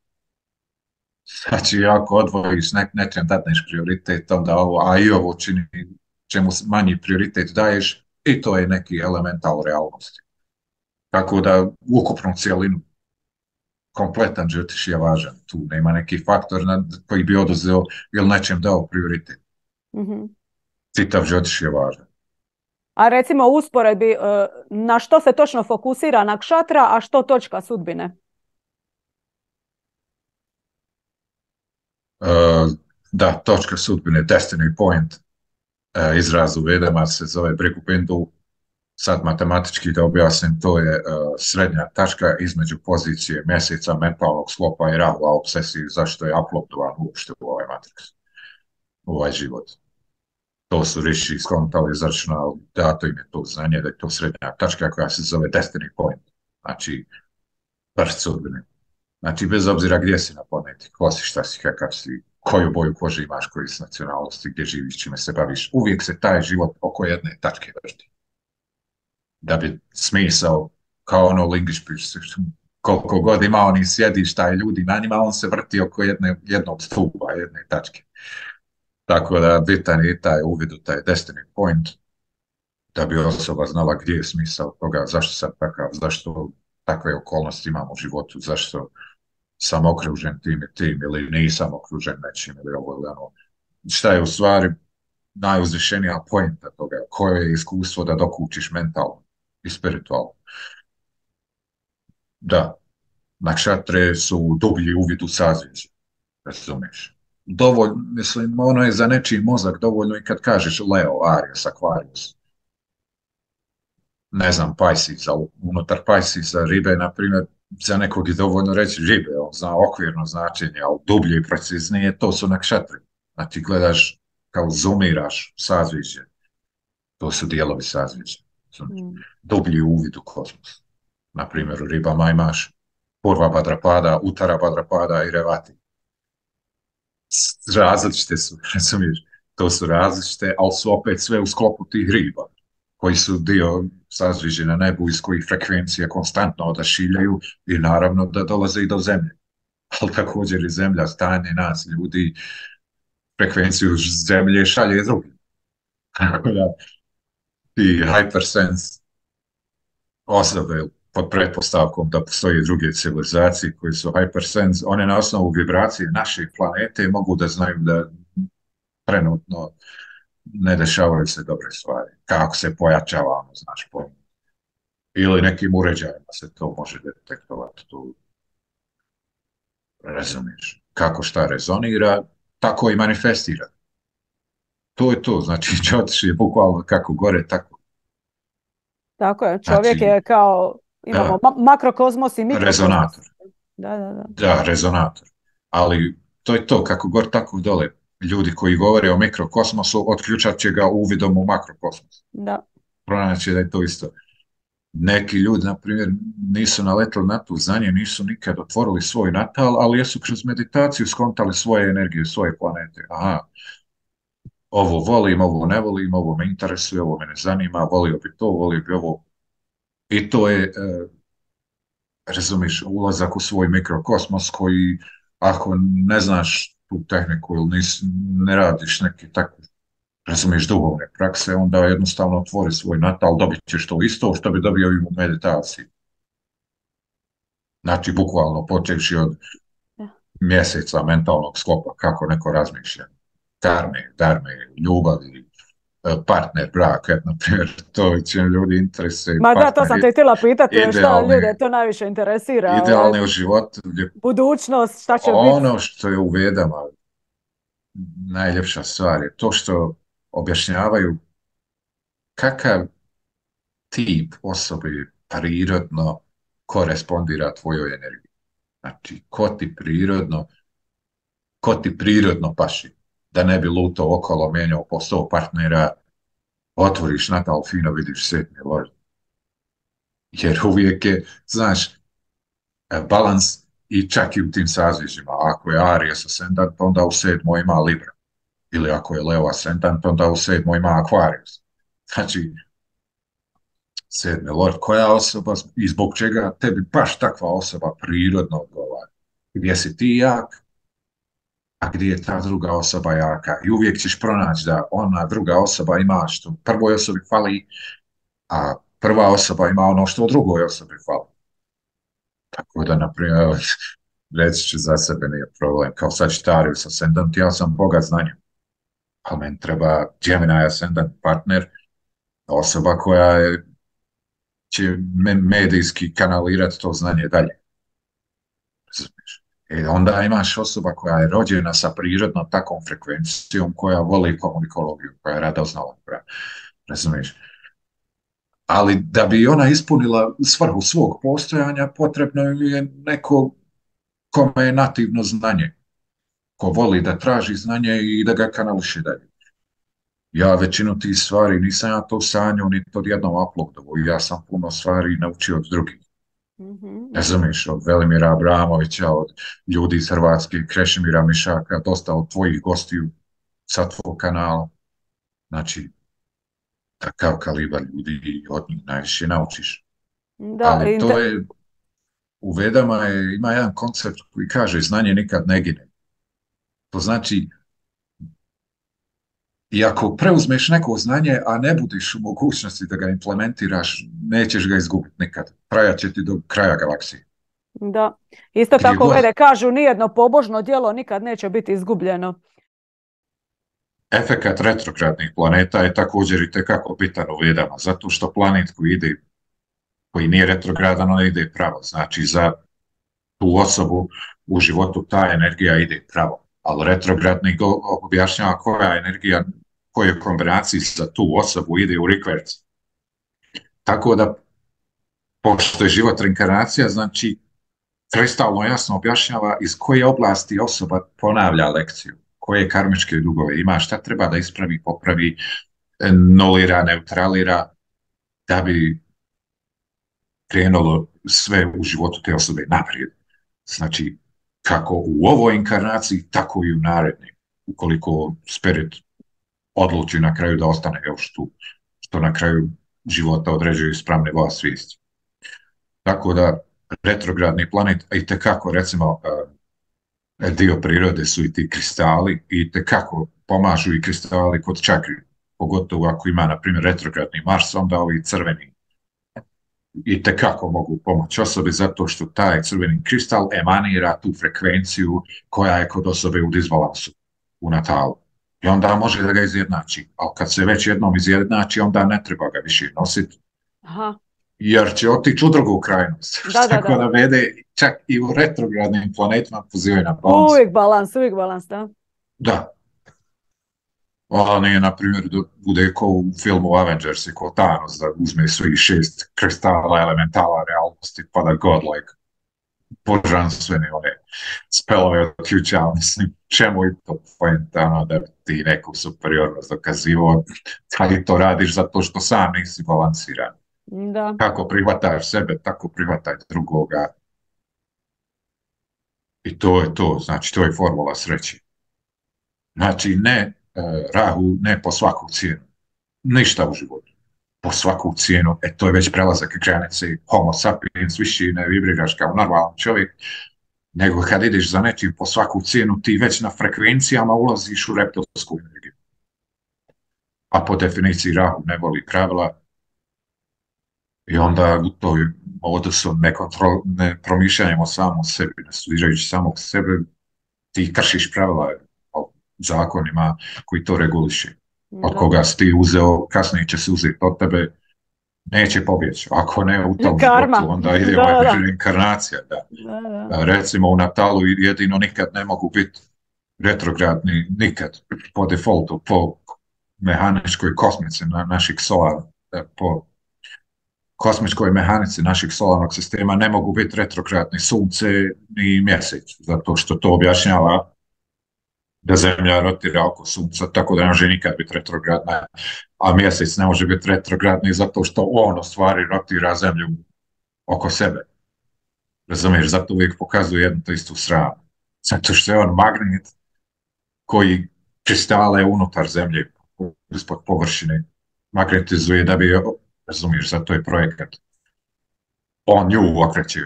Znači, ako odvojiš nečem dadneš prioritet, onda ovo, a i ovo čini čemu manji prioritet daješ, i to je neki elemental realnosti. Tako da ukupnu cijelinu kompletan džotiš je važan. Tu nema neki faktor koji bi oduzeo ili nečem dao prioritet. Čitav džotiš je važan. A recimo u usporedbi na što se točno fokusira nakšatra, a što točka sudbine? Da, točka sudbine, destiny point, izraz u Vedama se zove Brigu Bindu. Sad matematički da objasnim, to je srednja tačka između pozicije mjeseca, mentalnog sklopa i rahla obsesije, zašto je uploadovan uopšte u ovaj matrix, u ovaj život. To su riši skontali, izračunali, dato im je to znanje da je to srednja tačka koja se zove destiny point, znači prst sudbine. Znači, bez obzira gdje si na planeti, ko si, šta si, kakav si, koju boju kože imaš, koji s nacionalnosti, gdje živiš, čime se baviš. Uvijek se taj život oko jedne tačke vrti. Da bi smisao, kao ono Lingišpić, koliko god ima oni sjedišta i ljudi na njima, on se vrti oko jednog stupa, jedne tačke. Tako da bitan je taj uvid u taj destiny point, da bi osoba znala gdje je smisao toga, zašto sam takav, zašto takve okolnosti imam u životu, zašto sam okružen tim i tim ili nisam okružen nečim ili ovo ili ono. Šta je u stvari najuzvišenija pointa toga, koje je iskustvo da dokučiš mentalno i spiritualno. Da, nakšatre su dublji uvid u sazvjeđe, razumiješ. Dovoljno, mislim, ono je za nečiji mozak dovoljno i kad kažeš Leo, Aries, Aquarius, ne znam, Pisces, ali unutar Piscesa ribe, na primjer, za nekog je dovoljno reći ribe, on zna okvirno značenje, ali dublje i preciznije, to su nakšatri. Znači, gledaš, kao zoomiraš sazvjeđe, to su dijelovi sazvjeđa. Dublji uvid u kosmos. Na primjer, u ribama imaš Purva Bhadrapada, Uttara Bhadrapada i Revati. Različite su, razumiješ, to su različite, ali su opet sve u sklopu tih riba, koji su dio sazvježđa na nebu iz kojih frekvencije konstantno odašiljaju i naravno da dolaze i do zemlje. Ali također i zemlja, stanje nas, ljudi, frekvenciju zemlje šalje drugim. Tako da ti hypersense osobe pod pretpostavkom da postoje druge civilizacije koje su hypersense, one na osnovu vibracije naše planete mogu da znaju da trenutno ne dešavaju se dobre stvari. Kako se pojačavamo, znaš, ili nekim uređajima se to može detektovati. Tu razumiješ. Kako šta rezonira, tako i manifestira. To je to, znači Čotiš je bukvalno kako gore, tako. Tako je, čovjek je kao, imamo makrokozmos i mikrokozmos. Rezonator. Da. Da, rezonator. Ali to je to, kako gore, tako dole. Ljudi koji govore o mikrokosmosu otključat će ga uvidom u makrokosmos. Da. Pronaći da je to isto. Neki ljudi, na primjer, nisu naletili na to znanje, nisu nikad otvorili svoj natal, ali jesu kroz meditaciju skontali svoje energije, svoje planete. Aha, ovo volim, ovo ne volim, ovo me interesuje, ovo me ne zanima, volio bi to, volio bi ovo. I to je, razumiš, ulazak u svoj mikrokosmos koji, ako ne znaš tu tehniku ili ne radiš neki tako, razumiješ, duhovne prakse, onda jednostavno otvori svoj natal, dobit ćeš to isto što bi dobio i u meditaciji. Znači, bukvalno, počevši od mjeseca mentalnog sklopa, kako neko razmišlja. Darme, ljubavi, partner, brak, na primjer, to će ljudi interesuje. Ma da, to sam te htjela pitati, šta ljude to najviše interesira. Idealni u životu. Budućnost, šta će biti? Ono što je u Vedama najljepša stvar je to što objašnjavaju kakav tip osobe prirodno korespondira tvojoj energiji. Znači, ko ti prirodno paši, da ne bi lutao okolo, mijenjao po 100 partnera, otvoriš natal, fino vidiš sedmi lord. Jer uvijek je, znaš, balans i čak i u tim sazvižima. Ako je Aries ascendant, onda u 7. ima Libra. Ili ako je Leo ascendant, onda u 7. ima Aquarius. Znači, 7. lord, koja osoba i zbog čega tebi baš takva osoba prirodno odgovara. Gdje si ti jak, a gdje je ta druga osoba jaka. I uvijek ćeš pronaći da ona druga osoba ima što prvoj osobi fali, a prva osoba ima ono što drugoj osobi fali. Tako da, na primjer, reći ću za sebe nije problem. Kao Sagittarius ascendant, ja sam bogat znanjem. Ali meni treba Gemini ascendant partner, osoba koja će medijski kanalirati to znanje dalje. Onda imaš osoba koja je rođena sa prirodnom takvom frekvencijom, koja voli komunikologiju, koja je radoznala. Razumiješ? Ali da bi ona ispunila svrhu svog postojanja, potrebno je neko kome je nativno znanje, ko voli da traži znanje i da ga kanališe dalje. Ja većinu tih stvari nisam ja to sanjao ni od jednom uploadovu, ja sam puno stvari naučio od drugih. Razumiješ, od Velimira Abramovića, od ljudi iz Hrvatske, Krešimira Mišaka, dosta od tvojih gostiju sa tvojeg kanala. Znači, takav kalibar ljudi i od njih najviše naučiš. Da, Ali to je, u Vedama ima jedan koncept koji kaže znanje nikad ne gine. To znači, i ako preuzmeš neko znanje, a ne budeš u mogućnosti da ga implementiraš, nećeš ga izgubiti nikad. Trajat će ti do kraja galaksije. Da. Isto tako Vede kažu, nijedno pobožno djelo nikad neće biti izgubljeno. Efekat retrogradnih planeta je također i tekako bitan u Vedama, zato što planet koji nije retrogradan, on ide pravo. Znači, za tu osobu u životu ta energija ide pravo. Ali retrogradni objašnjava koja energija, kojoj kombinaciji za tu osobu ide u reverse. Tako da, pošto je život reinkarnacija, znači, kristalno jasno objašnjava iz koje oblasti osoba ponavlja lekciju, koje karmičke dugove ima, šta treba da ispravi, popravi, nulira, neutralira, da bi krenulo sve u životu te osobe naprijed. Znači, kako u ovoj inkarnaciji, tako i u narednim. Ukoliko spirit odluči na kraju da ostane još tu, što na kraju života određuju ispravne vas svijesti. Tako da, retrogradni planet, i tekako, recimo, dio prirode su i ti kristali, i tekako pomažu i kristali kod čakri, pogotovo ako ima, na primjer, retrogradni Mars, onda ovi crveni i tekako mogu pomoći osobi zato što taj crveni kristal emanira tu frekvenciju koja je kod osobe u disbalansu, u natalu. I onda može da ga izjednači. Ali kad se već jednom izjednači, onda ne treba ga više nositi. Jer će otići u drugu krajnost. Tako da Vede čak i u retrogradnim planetima pozivaju na balans. Uvijek balans, da. Da. Ona nije, na primjer, da bude ko u filmu Avengers i ko Thanos, da uzme svih 6 kristala elementala realnosti, pa da godlike božanstvene one spelove otključa, mislim, čemu i to poentano da ti neku superiornost dokazivo, ali to radiš zato što sam nisi balansiran. Da. Kako prihvataš sebe, tako prihvataj drugoga. I to je to, znači to je formula sreće. Znači ne Rahu, ne po svaku cijenu. Ništa u životu. Po svaku cijenu, to je već prelazak granice homo sapiens, više ne vibriraš kao normalan čovjek, nego kad ideš za nečim po svaku cijenu, ti već na frekvencijama ulaziš u reptilsku energiju. A po definiciji Rahu ne voli pravila i onda u toj modusu ne promišljanjem o samom sebi, ne studirajući samog sebe, ti kršiš pravila o zakonima koji to reguliše. Od koga si ti uzeo, kasnije će se uzeti od tebe, neće pobjeći. Ako ne u tom životu, onda ide reinkarnacija. Recimo u Natalu jedino nikad ne mogu biti retrogradni, nikad po defaultu, po mehaničkoj kosmici naših solara, po kosmičkoj mehanici našeg solarnog sistema ne mogu biti retrogradni sunce ni mjesec, zato što to objašnjava da Zemlja rotira oko sunca, tako da ne može nikad biti retrogradna, a mjesec ne može biti retrogradni zato što on u stvari rotira Zemlju oko sebe. Razumiješ, zato uvijek pokazuje jednu to istu stranu. Zato što je on magnet koji kristale unutar Zemlje, ispod površine, magnetizuje da bi, razumiješ, zato je projekat. On nju okreće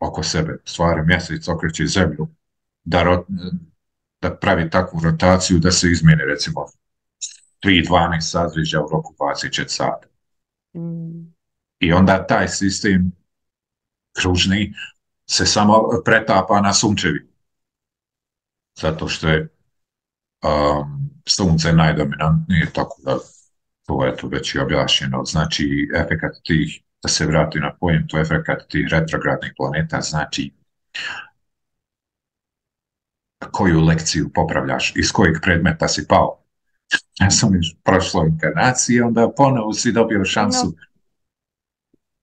oko sebe, u stvari mjesec okreće Zemlju, da pravi takvu rotaciju da se izmijeni, recimo, 3-12 sazriđa u roku 24 sata. I onda taj sistem kružni se samo pretapa na sunčevi. Zato što je sunce najdominantnije, tako da to je tu već i objašnjeno. Znači, efekat tih, da se vrati na pojentu, efekat tih retrogradnih planeta, znači koju lekciju popravljaš, iz kojeg predmeta si pao. Ja sam još prošlo inkarnaciji, onda ponovo si dobio šansu.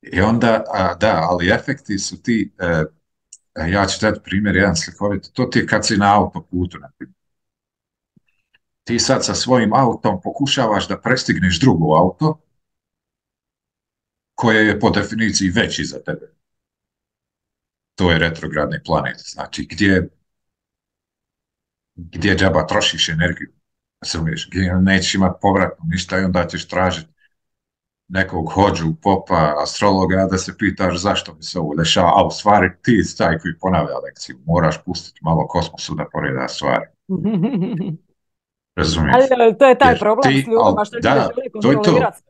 I onda, da, ali efekti su ti, ja ću dati primjer, jedan slikovit, to ti je kad si na autoputu, naprimjer. Ti sad sa svojim autom pokušavaš da prestigneš drugo auto koje je po definiciji veći za tebe. To je retrogradni planet. Znači, gdje džaba trošiš energiju, razumiješ, gdje nećeš imati povratno ništa i onda ćeš tražiti nekog hođu, popa, astrologa da se pitaš zašto mi se ovo dešava, a u stvari ti si taj koji ponavlja lekciju. Moraš pustiti malo kosmosu da poreda stvari. Razumiješ? Ali to je taj problem s ljudima što da, želi kontrolirati.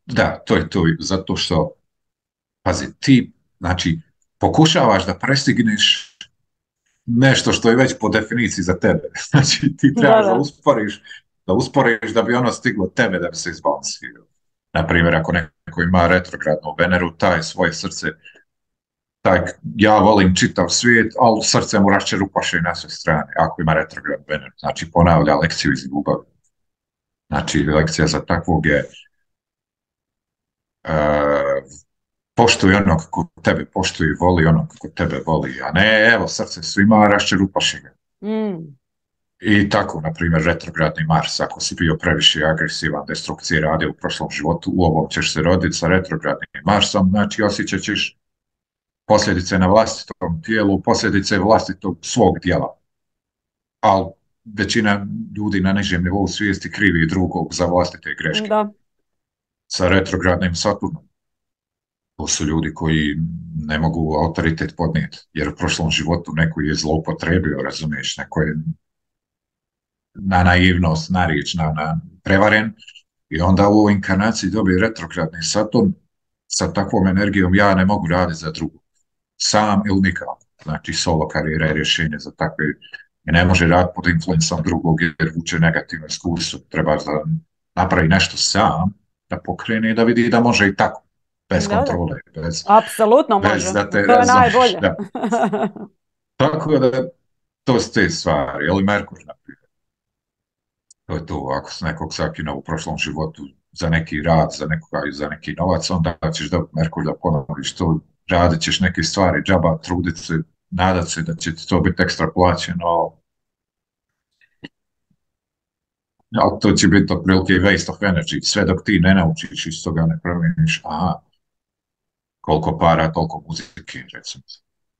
Da, to je to. Zato što, pazi, ti, znači, pokušavaš da prestigneš nešto što je već po definiciji za tebe. Znači, ti trebaš da usporiš da bi ono stiglo tebe da bi se izbalansirao. Naprimjer, ako neko ima retrogradnu Veneru, taj svoje srce, ja volim čitav svijet, ali srce mu raščerupaše na sve strane, ako ima retrogradnu Veneru. Znači, ponavlja lekciju iz ljubavi. Znači, lekcija za takvog je poštuj onog ko tebe poštuje, voli onog ko tebe voli, a ne, evo, srce svima, raščerupaše ga. I tako, na primjer, retrogradni Mars, ako si bio previše agresivan, destrukcije radio u prošlom životu, u ovom ćeš se roditi sa retrogradnim Marsom, znači osjećat ćeš posljedice na vlastitom tijelu, posljedice vlastitog svog djela. Ali većina ljudi na nižem nivou svijesti krivi drugog za vlastite greške. Da. Sa retrogradnim Saturnom. To su ljudi koji ne mogu autoritet podnijeti, jer u prošlom životu neko je zloupotrebio, razumiješ, neko je na naivnost, na riječ, na prevaren, i onda u ovoj inkarnaciji dobije retrogradni Saturn sa takvom energijom, ja ne mogu raditi za drugog. Sam ili nikako. Znači, solo karijera je rješenje za takve, i ne može raditi pod influencom drugog jer vuče negativno iskustvo. Treba da napravi nešto sam, da pokrene i da vidi da može i tako. Bez kontrole. Apsolutno može. To je najbolje. Da. Tako da, to su te stvari. Je li Merkur, naprijed? To je to. Ako se nekog sakina u prošlom životu za neki rad, za nekoga i za neki novac, onda ćeš dobiti Merkur da ponoviš to. Radit ćeš neke stvari, džaba, trudit se, nadat se da će ti to biti ekstra plaćeno. Ali to će biti otprilike waste of energy. Sve dok ti ne naučiš, iz toga ne promijeniš, koliko para, toliko muzike, recimo.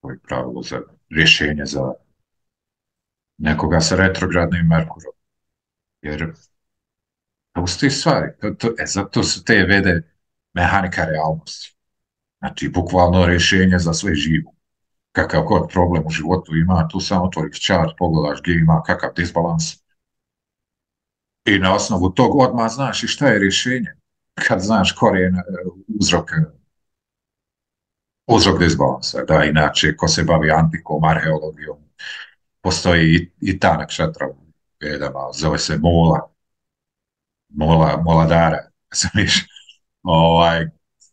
To je pravilo za rješenje za nekoga sa retrogradnim Merkurom. Jer to su te stvari. Zato su te vede mehanika realnosti. Znači, bukvalno rješenje za sve živo. Kakav god problem u životu ima, tu samo otvoriš chart, pogledaš gdje ima kakav disbalans. I na osnovu tog odmah znaš i šta je rješenje. Kad znaš korijen, uzrok disbalansa. Da, inače, ko se bavi antikom, arheologijom, postoji i ta nakšatra u Vedama, zove se Moladara. Znaš,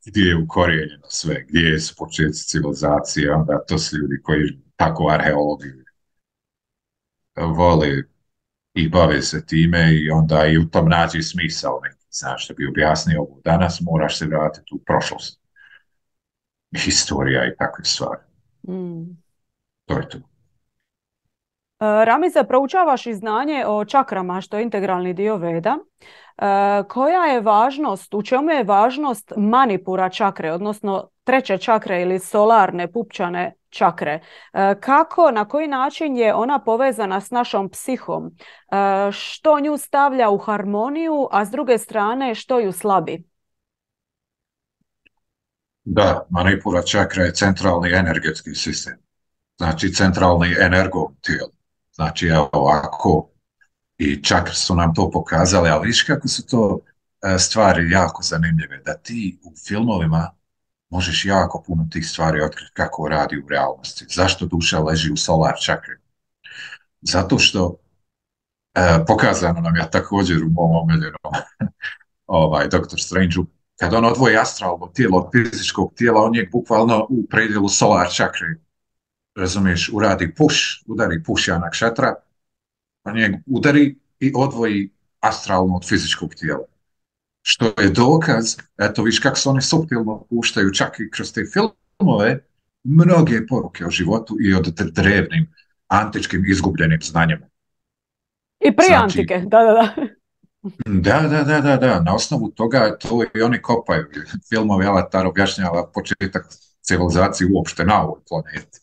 gdje je ukorijenjeno sve, gdje su početci civilizacije, onda to su ljudi koji tako arheologiju vole i bave se time i onda i u tom nađi smisao neki. Znaš, da bi objasnio ovo danas, moraš se vratiti u prošlost. Historija i takve stvari. To je to. Ramize, proučavaš i znanje o čakrama, što je integralni dio Veda. Koja je važnost, u čemu je važnost manipura čakre, odnosno treće čakre ili solarne pupčane čakre? Kako, na koji način je ona povezana s našom psihom? Što nju stavlja u harmoniju, a s druge strane što ju slabi? Da, manipura čakra je centralni energetski sistem. Znači centralni energo tijelo. Znači, evo ovako, i čakre su nam to pokazali, ali viš kako su to stvari jako zanimljive, da ti u filmovima možeš jako puno tih stvari otkriti kako radi u realnosti. Zašto duša leži u solar čakri? Zato što pokazano nam je također u mom omiljenom Dr. Strange-u, kad on odvoji astralno tijelo od fizičkog tijela, on je bukvalno u predjelu solar čakri, razumiješ, udari push janak šatra, on je udari i odvoji astralno od fizičkog tijela. Što je dokaz, eto viš kako se oni suptilno puštaju čak i kroz te filmove, mnoge poruke o životu i o drevnim, antičkim izgubljenim znanjima. I prije antike, da. Da. Na osnovu toga to i oni kopaju. Filmovi Avatar objašnjava početak civilizacije uopšte na ovoj planeti.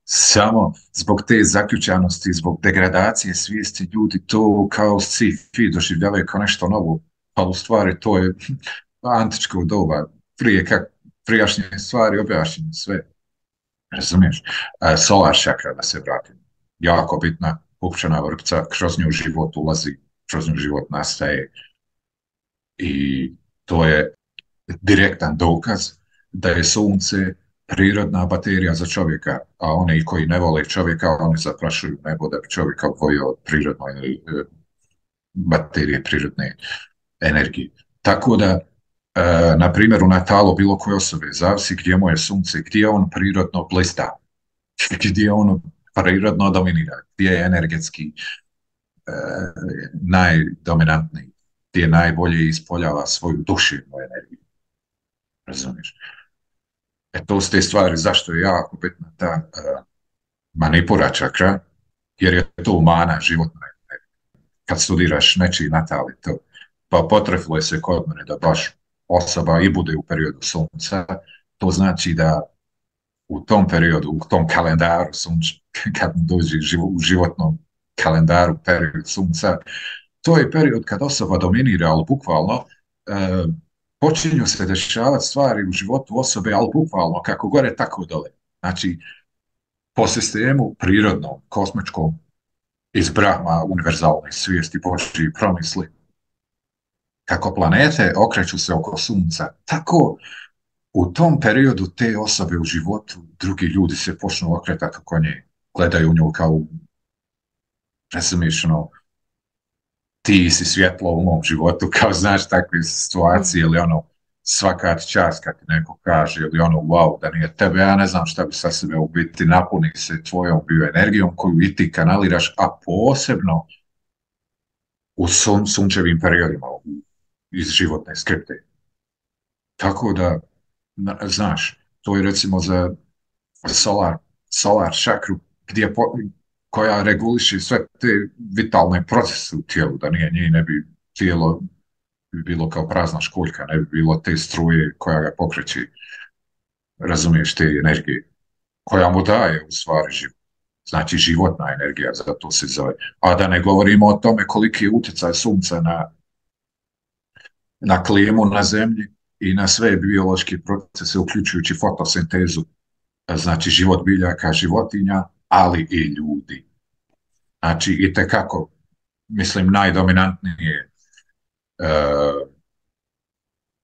Samo zbog te zaključanosti, zbog degradacije svijesti ljudi to kao sci-fi doživljavaju kao nešto novo. Pa u stvari to je antičko doba. Prijašnje stvari objašnjene sve. Razumiješ? Solar čakra, da se vratim. Jako bitna pupčana vrpca, kroz nju život ulazi, kroz nju život nastaje. I to je direktan dokaz da je sunce prirodna baterija za čovjeka, a oni koji ne vole čovjeka, oni zaprašuju nebo da bi čovjeka odvojio od prirodne baterije, prirodne energije. Tako da, na primjer, u natalu bilo koje osobe, zavisi gdje mu je sunce, gdje on prirodno blista, gdje on prirodno dominira, gdje je energetski najdominantniji, gdje najbolje ispoljava svoju duševnu energiju. Razumiješ? To su te stvari zašto je jako bitna ta manipura čakra, jer je to mana životna energija. Kad studiraš nečiji natal i to, pa potrefilo je se kod mene da baš osoba i bude u periodu sunca, to znači da u tom periodu, u tom kalendaru sunca, kad dođe u životnom kalendaru period sunca, to je period kad osoba dominira, ali bukvalno počinju se dešavati stvari u životu osobe, ali bukvalno kako gore, tako dole. Znači, po sistemu prirodnom, kosmičkom, iz Brahma, univerzalne svijesti, Božji promisli, kako planete okreću se oko sunca, tako u tom periodu te osobe u životu, drugi ljudi se počnu okretati oko nje, gledaju nju kao, razumiješ, ti si svjetlo u mom životu, kao znaš takve situacije, ili svaka čast kad ti neko kaže, ili wow, da nije tebe, ja ne znam šta bi sa sebe u biti, napuni se tvojom bioenergijom koju i ti kanaliraš, a posebno u sunčevim periodima iz životne skripte. Tako da, znaš, to je recimo za solar čakru, koja reguliše sve te vitalne procese u tijelu, da nije ne bi tijelo bi bilo kao prazna školjka, ne bi bilo te struje koja ga pokreće, razumiješ, te energije, koja mu daje u stvari život. Znači životna energija, zato se zove. A da ne govorimo o tome koliki je utjecaj sunca na klimu na zemlji i na sve biološke procese, uključujući fotosintezu, znači život biljaka, životinja, ali i ljudi. Znači, itekako, mislim, najdominantnije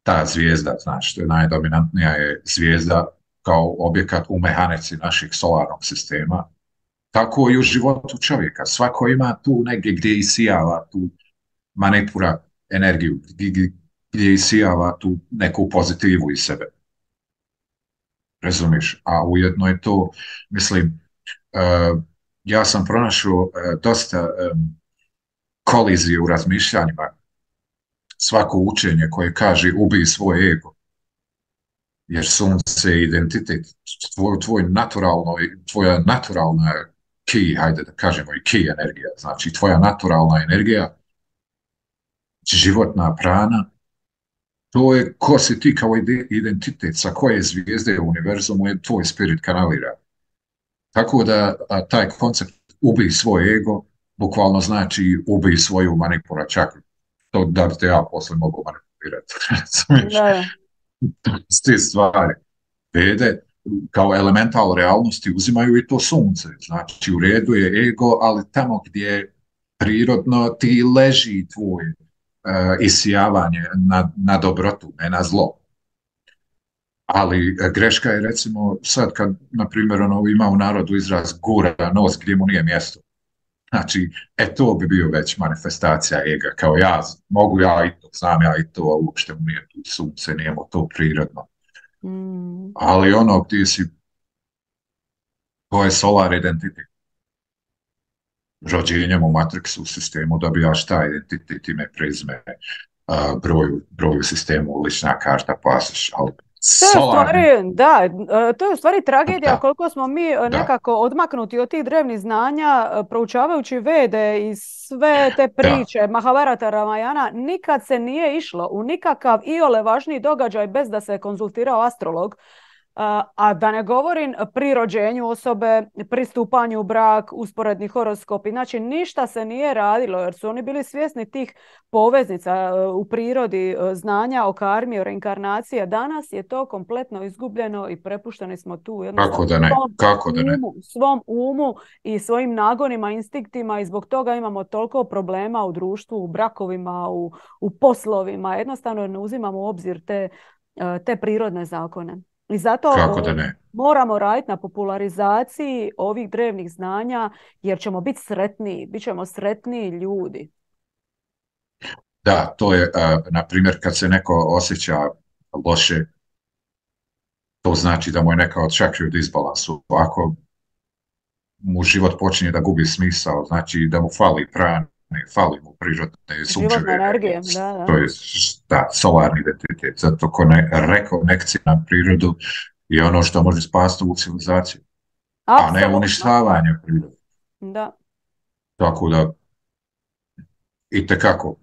ta zvijezda, znači, najdominantnija je zvijezda kao objekat u mehanici našeg solarnog sistema, tako i u životu čovjeka. Svako ima tu negdje gdje isijava tu manipura energiju, gdje isijava tu neku pozitivu iz sebe. Razumiješ? A ujedno je to, mislim, ja sam pronašao dosta kolizije u razmišljanjima. Svako učenje koje kaže ubij svoj ego, jer sunce je identitet, tvoja naturalna ki, hajde da kažemo i ki energija, znači tvoja naturalna energija, životna prana, to je ko si ti kao identitet, sa koje zvijezde u univerzumu je tvoj spirit kanalira. Tako da taj koncept ubij svoj ego bukvalno znači ubij svoju manipura čakru. To da bi te ja posle mogu manipulirati. S te stvari. Vede kao elemental realnosti uzimaju i to sunce. Znači u redu je ego, ali tamo gdje prirodno ti leži tvoj isijavanje na dobrotu, ne na zlo. Ali greška je recimo sad kad, na primjer, ima u narodu izraz gura nos gdje mu nije mjesto. Znači, to bi bio već manifestacija ega, kao mogu ja i to, znam ja i to, a uopšte mu nije tu sunce, nije mu to prirodno. Ali gdje si, to je solar identitet. Rođenjem u Matrixu sistemu dobijaš taj identitet, ime, prezime, broj u sistemu, lična karta, pasoš, ali to je u stvari tragedija koliko smo mi nekako odmaknuti od tih drevnih znanja, proučavajući Vede iz sve te priče Mahabharata, Ramayana, nikad se nije išlo u nikakav iole važniji događaj bez da se konzultirao astrolog. A da ne govorim pri rođenju osobe, pri stupanju u brak, usporedni horoskopi. Znači ništa se nije radilo jer su oni bili svjesni tih poveznica u prirodi, znanja o karmi, o reinkarnaciji. Danas je to kompletno izgubljeno i prepušteni smo tu svom umu i svojim nagonima, instinktima i zbog toga imamo toliko problema u društvu, u brakovima, u poslovima. Jednostavno ne uzimamo u obzir te prirodne zakone. I zato moramo raditi na popularizaciji ovih drevnih znanja jer ćemo biti sretniji, bit ćemo sretniji ljudi. Da, to je, na primjer, kad se neko osjeća loše, to znači da mu je neka od čakri u disbalansu. Ako mu život počinje da gubi smisao, znači da mu fali prane, fali mu prirodne sunčeve energije. To je solarni identitet. Zato rekonekcija na prirodu je ono što može spasti u civilizaciju. Absolutno. A ne uništavanje prirode. Da. Tako da itekako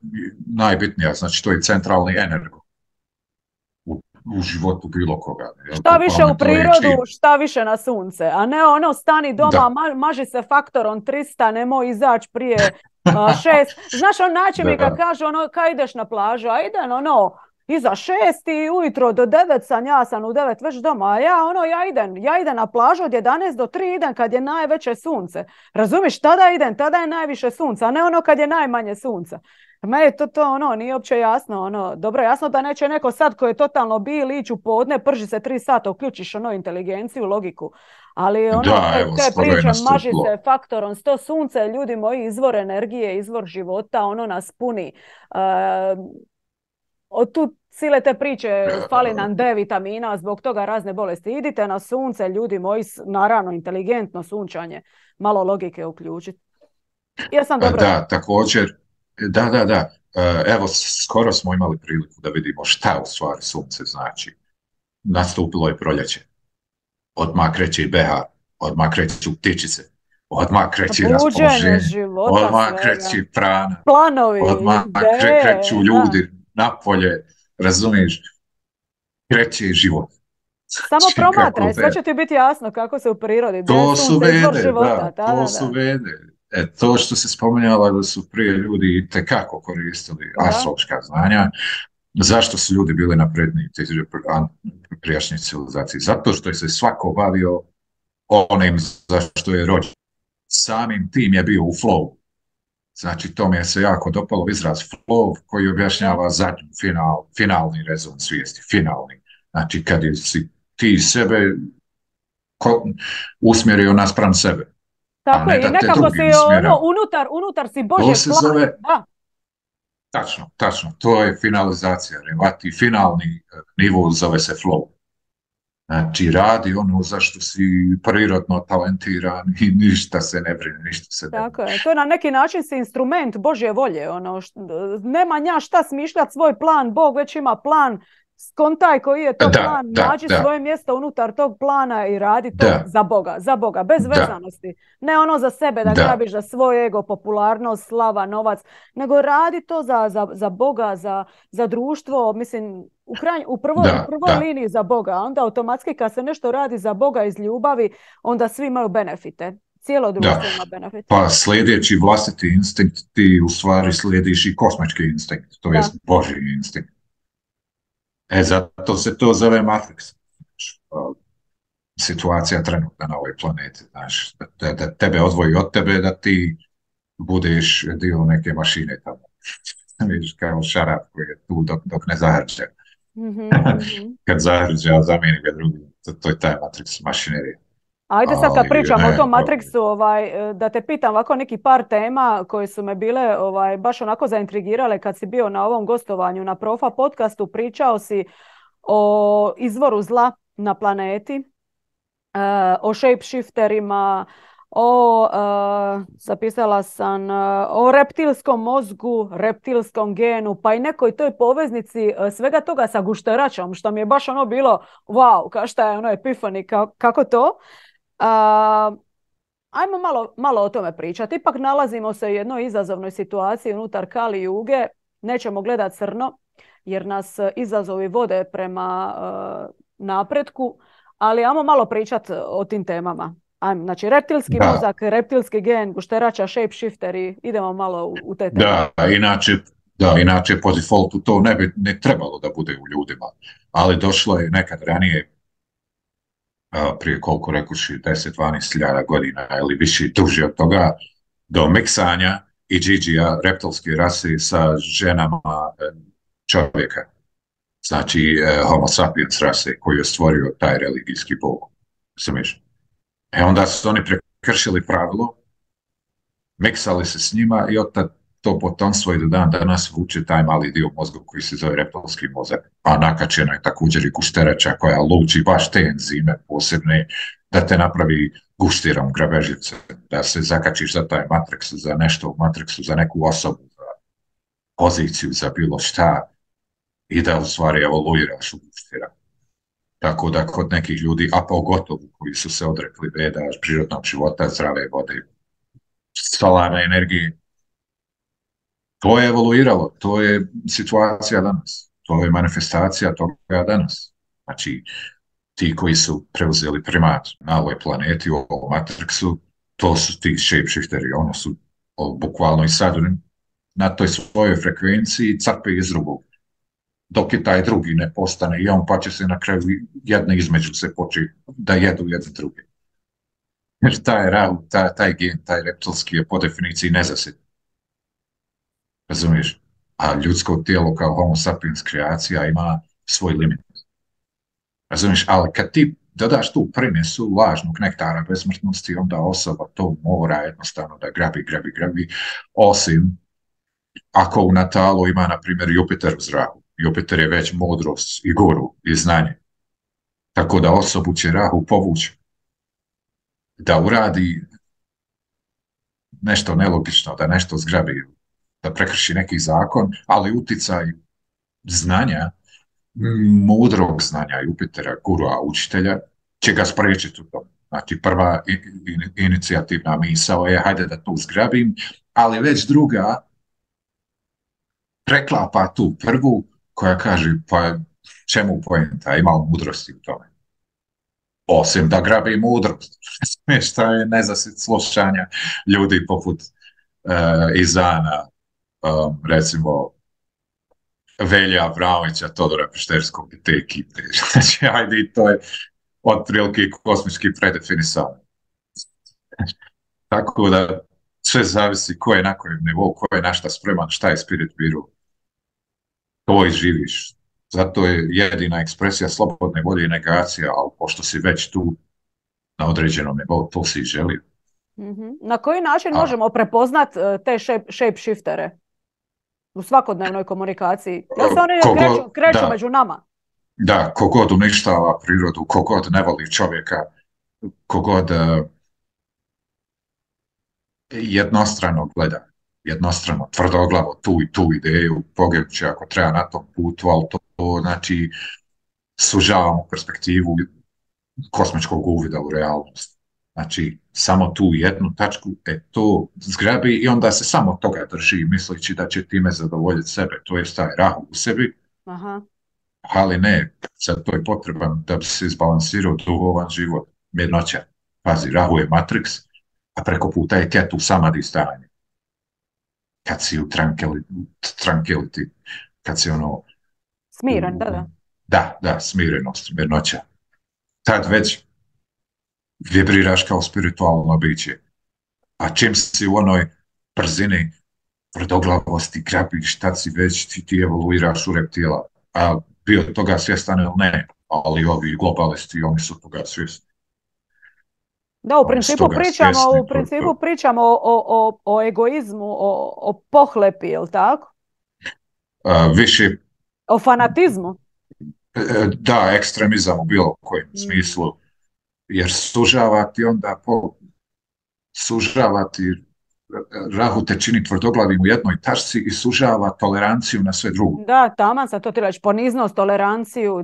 najbitnija, znači to je centralni energo u životu bilo koga. Šta više u prirodu, šta više na sunce. A ne ono stani doma, maži se faktorom 300, nemoj izaći prije 6. Znaš on način mi kad kaže ono, kad ideš na plažu, a idem ono, iza 6 i ujutro do 9 ja sam u 9 već doma, a ja idem na plažu od 11 do 3 idem kad je najveće sunce. Razumiš, tada idem, tada je najviše sunca, a ne ono kad je najmanje sunca. Meni to ono, nije uopće jasno. Ono, dobro, jasno da neće neko sad koji je totalno bil ići u podne, prži se 3 sata, uključiš ono inteligenciju, logiku. Ali ono, te priče, maži se faktorom 100 sunce, ljudi moji, izvor energije, izvor života, ono nas puni. Od tu sile te priče, fali nam D vitamina, zbog toga razne bolesti. Idite na sunce, ljudi moji, naravno, inteligentno sunčanje, malo logike uključiti. Jesam dobro? Da, također. Da. Evo, skoro smo imali priliku da vidimo šta u stvari sunce znači. Nastupilo je proljeće. Odmah kreće i behar, odmah kreću ptičice, odmah kreće raspoloženje, odmah kreće prana, planovi, odmah kreću ljudi napolje, razumiješ, kreće život. Samo promatraj, sve će ti biti jasno kako se u prirodi. To su vede, to su vede. To što se spominjala da su prije ljudi itekako koristili astrološka znanja, zašto su ljudi bili napredniji prijašnjih civilizaciji? Zato što je se svako bavio onim za što je rođen. Samim tim je bio u flow. Znači, to mi je se jako dopalo izraz flow koji objašnjava zadnji finalni rezon svijesti, finalni. Znači, kad si ti sebe usmjerio naspram sebe. Tako je, i nekako si unutar si Božje plana. Tačno, to je finalizacija. Ti finalni nivo zove se flow. Znači, radi ono za što si prirodno talentiran i ništa se ne brine, ništa se ne brine. Tako je, to je na neki način si instrument Božje volje. Nema nja šta smišljati svoj plan, Bog već ima plan. Skontaj koji je to plan, nađi svoje mjesto unutar tog plana i radi to za Boga, bez vezanosti. Ne ono za sebe da grabiš za svoj ego, popularnost, slava, novac, nego radi to za Boga, za društvo, mislim, u prvoj liniji za Boga. Onda automatski kad se nešto radi za Boga iz ljubavi, onda svi imaju benefite. Cijelo društvo ima benefite. Pa slijedeći vlastiti instinkt, ti u stvari slijediš i kosmički instinkt, to je Božji instinkt. Zato se to zove Matrix. Situacija trenutna na ovoj planeti. Znaš, da tebe odvoji od tebe, da ti budeš dio neke mašine tamo. Vidiš kao šarap koji je tu dok ne zahrđe. Kad zahrđe, a zamijeni ga drugi. To je taj Matrix mašinerija. Ajde sad kad pričamo o tom Matrixu, da te pitam ovako neki par tema koje su me bile baš onako zaintrigirale kad si bio na ovom gostovanju na Profa podcastu. Pričao si o izvoru zla na planeti, o shapeshifterima, zapisala sam, o reptilskom mozgu, reptilskom genu, pa i nekoj toj poveznici svega toga sa gušteračom, što mi je baš ono bilo, wow, kao šta je ono epifani, kako to? ajmo malo o tome pričati. Ipak nalazimo se u jednoj izazovnoj situaciji unutar Kali Juge. Nećemo gledati crno, jer nas izazovi vode prema napretku, ali ajmo malo pričati o tim temama. Znači, reptilski mozak, reptilski gen, gušterača, shapeshifteri, idemo malo u te teme. Inače po defaultu to ne bi ne trebalo da bude u ljudima, ali došlo je nekad ranije, prije koliko rekuši, 10-12 godina ili više, duže od toga, do miksanja i džiđija reptilske rase sa ženama čovjeka. Znači, homo sapiens rase koju je stvorio taj religijski bog. Smiš? Onda su oni prekršili pravilo, miksali se s njima i od tad to potomstvo i do dan danas vuče taj mali dio mozga koji se zove reptilski mozak. A nakačena je također i gušterača koja luči baš te enzime posebne da te napravi guštirom grabežice, da se zakačiš za taj matrix, za nešto u matrixu, za neku osobu, za poziciju, za bilo šta i da u stvari evoluiraš u guštira. Tako da kod nekih ljudi, a pogotovo koji su se odrekli veda, prirodnog života, zdrave vode, solarne energije, to je evoluiralo, to je situacija danas, to je manifestacija toga danas. Znači, ti koji su preuzeli primat na ovoj planeti, u ovom matrixu, to su ti shapeshifteri, ono su bukvalno i sad na toj svojoj frekvenciji crpe iz drugog. Dok je taj drugi ne postane i on, pa će se na kraju jedne između se početi da jedu jedne druge. Jer taj gen, taj reptilski je po definiciji nezasit. Razumiješ? A ljudsko tijelo kao homo sapiens kreacija ima svoj limit. Razumiješ? Ali kad ti dodaš tu primjesu lažnog nektara besmrtnosti, onda osoba to mora jednostavno da grabi, osim ako u natalu ima, na primjer, Jupiter u zraku. Jupiter je već mudrost i guru i znanje. Tako da osobu će Rahu povući da uradi nešto nelogično, da nešto zgrabi, da prekrši neki zakon, ali uticaj znanja, mudrog znanja Jupitera, gurua, učitelja, će ga spriječiti u tom. Znači, prva inicijativna misao je hajde da tu zgrabim, ali već druga preklapa tu prvu koja kaže pa čemu poenta, ima li mudrosti u tome? Osim da grabi mudrost. Šta je nezasit slušanja ljudi poput Izana, recimo Velja Avramovića, Todora Pešterskog i te ekipe. Znači, ajde, to je otprilike kosmički predefinisano. Tako da sve zavisi ko je na kojem nivou, ko je na šta spreman, šta je spirit biru. To i živiš. Zato je jedina ekspresija slobodne volje i negacija, ali pošto si već tu na određenom nivou, to si želio. Na koji način možemo prepoznat te shapeshiftere u svakodnevnoj komunikaciji? Ja se oni kreću među nama. Da, kogod uništava prirodu, kogod ne voli čovjeka, kogod jednostrano gleda, jednostrano, tvrdoglavo tu ideju, poginuće ako treba na tom putu, ali to znači sužavamo perspektivu kosmičkog uvida u realnost. Znači, samo tu jednu tačku, to zgrabi i onda se samo toga drži, misleći da će time zadovoljiti sebe, to je taj Rahu u sebi. Aha. Ali ne, sad to je potreban da bi se izbalansirao duhovan život, mirnoća. Pazi, Rahu je Matrix, a preko puta je Ketu samadhi stanje. Kad si u tranquility, kad si ono... Smiren, da. Da, smirenost, mirnoća. Tad već vibriraš kao spiritualno biće. A čim si u onoj brzini tvrdoglavosti, grabiš, tad si već, ti evoluiraš u reptila. A bio toga svjestan ili ne, ali ovi globalisti, oni su toga svjesni. Da, u principu pričamo o egoizmu, o pohlepi, je li tako? Više... O fanatizmu? Da, ekstremizam u bilo kojem smislu. Jer sužavati Rahu te čini tvrdoglavim u jednoj tačci i sužava toleranciju na sve drugo. Da, taman sam to ti reći, poniznost, toleranciju,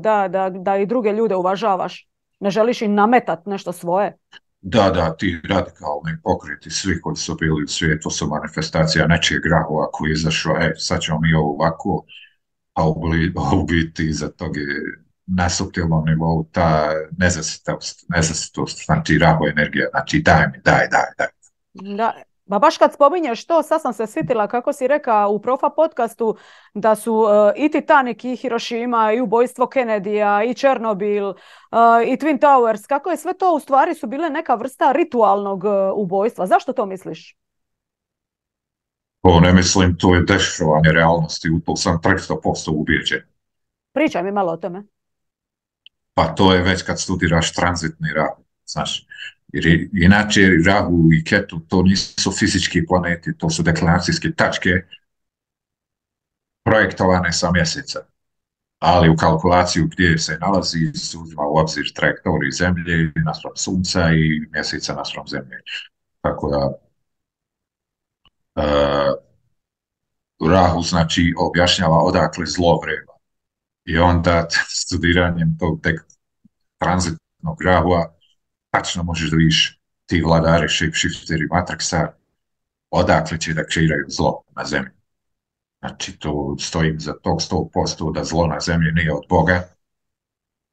da i druge ljude uvažavaš. Ne želiš im nametat nešto svoje. Da, ti radikalni pokreti, svi koji su bili u svijetu su manifestacija nečijeg rahova koji je izašao, sad ćemo mi ovo ovako, a u biti iza toga je na suptilnom nivou ta nezasitost, znači raho energija, znači daj. Da, ba baš kad spominješ to, sad sam se sjetila kako si rekao u Profa podcastu da su i Titanic i Hirošima i ubojstvo Kennedyja i Černobil i Twin Towers, kako je sve to u stvari su bile neka vrsta ritualnog ubojstva. Zašto to misliš? To ne mislim, to je dešavanje realnosti, u to sam 300% ubijeđen. Pričaj mi malo o tome. Pa to je već kad studiraš tranzitni rahu, znaš. Jer inače Rahu i Ketu to nisu fizički planeti, to su deklinacijske tačke projektovane sa mjeseca. Ali u kalkulaciju gdje se nalazi se uzima u obzir trajektorij Zemlje naspram Sunca i mjeseca naspram Zemlje. Tako da Rahu znači objašnjava odakle zlo vreba. I onda studiranjem tog tranzitnog Rahua tačno možeš da vidiš ti vladari, shapeshifteri Matrixa, odakle će da kreiraju zlo na zemlji. Znači, to stojim za tog 100% da zlo na zemlji nije od Boga,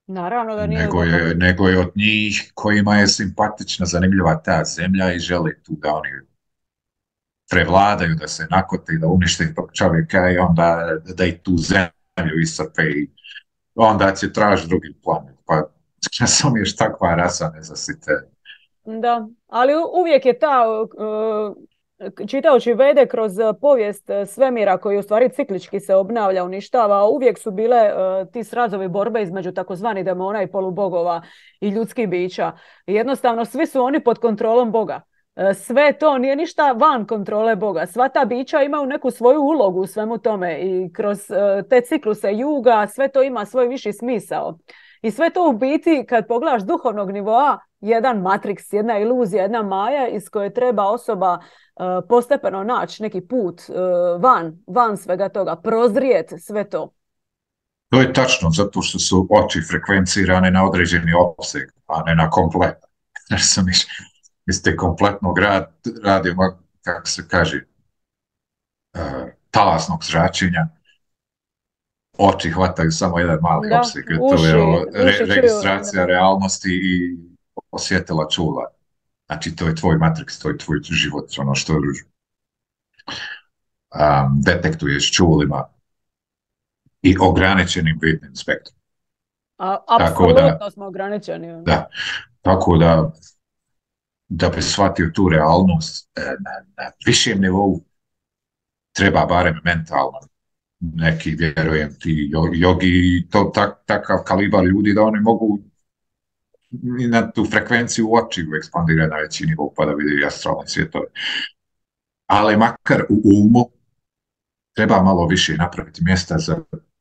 naravno da nije nego je od njih kojima je simpatična, zanimljiva ta zemlja i žele tu da oni prevladaju, da se nakote i da unište tog čovjeka i onda da i tu zemlju iscrpe i onda će traži drugi planet. Pa sam još takva rasa nezasite. Da, ali uvijek je ta, čitajući Vede kroz povijest svemira koji u stvari ciklički se obnavlja, uništava, uvijek su bile ti srazovi borbe između takozvanih demona i polubogova i ljudskih bića. Jednostavno, svi su oni pod kontrolom Boga. Sve to nije ništa van kontrole Boga. Sva ta bića imaju neku svoju ulogu u svemu tome i kroz te cikluse juga sve to ima svoj viši smisao. I sve to u biti, kad pogledaš duhovnog nivoa, jedan matriks, jedna iluzija, jedna maja iz koje treba osoba postepeno naći neki put van svega toga, prozrijet sve to. To je tačno, zato što su oči frekvencirane na određeni opseg, a ne na kompletan. Jer sam iz te kompletnog radimo, kako se kaže, talasnog zračenja, oči hvataju samo jedan mali opseg. To je registracija realnosti i osjetila čula. Znači, to je tvoj matrix, to je tvoj život, ono što detektuješ čulima i ograničenim vidnim spektrom. Apsolutno smo ograničeni. Da, tako da bi shvatio tu realnost na višem nivou treba barem mentalno neki, vjerujem, ti jogi, takav kalibar ljudi da oni mogu na tu frekvenciju u očiju ekspandirati na veći nivou pa da vidi astralni svjetove. Ali makar u umu treba malo više napraviti mjesta za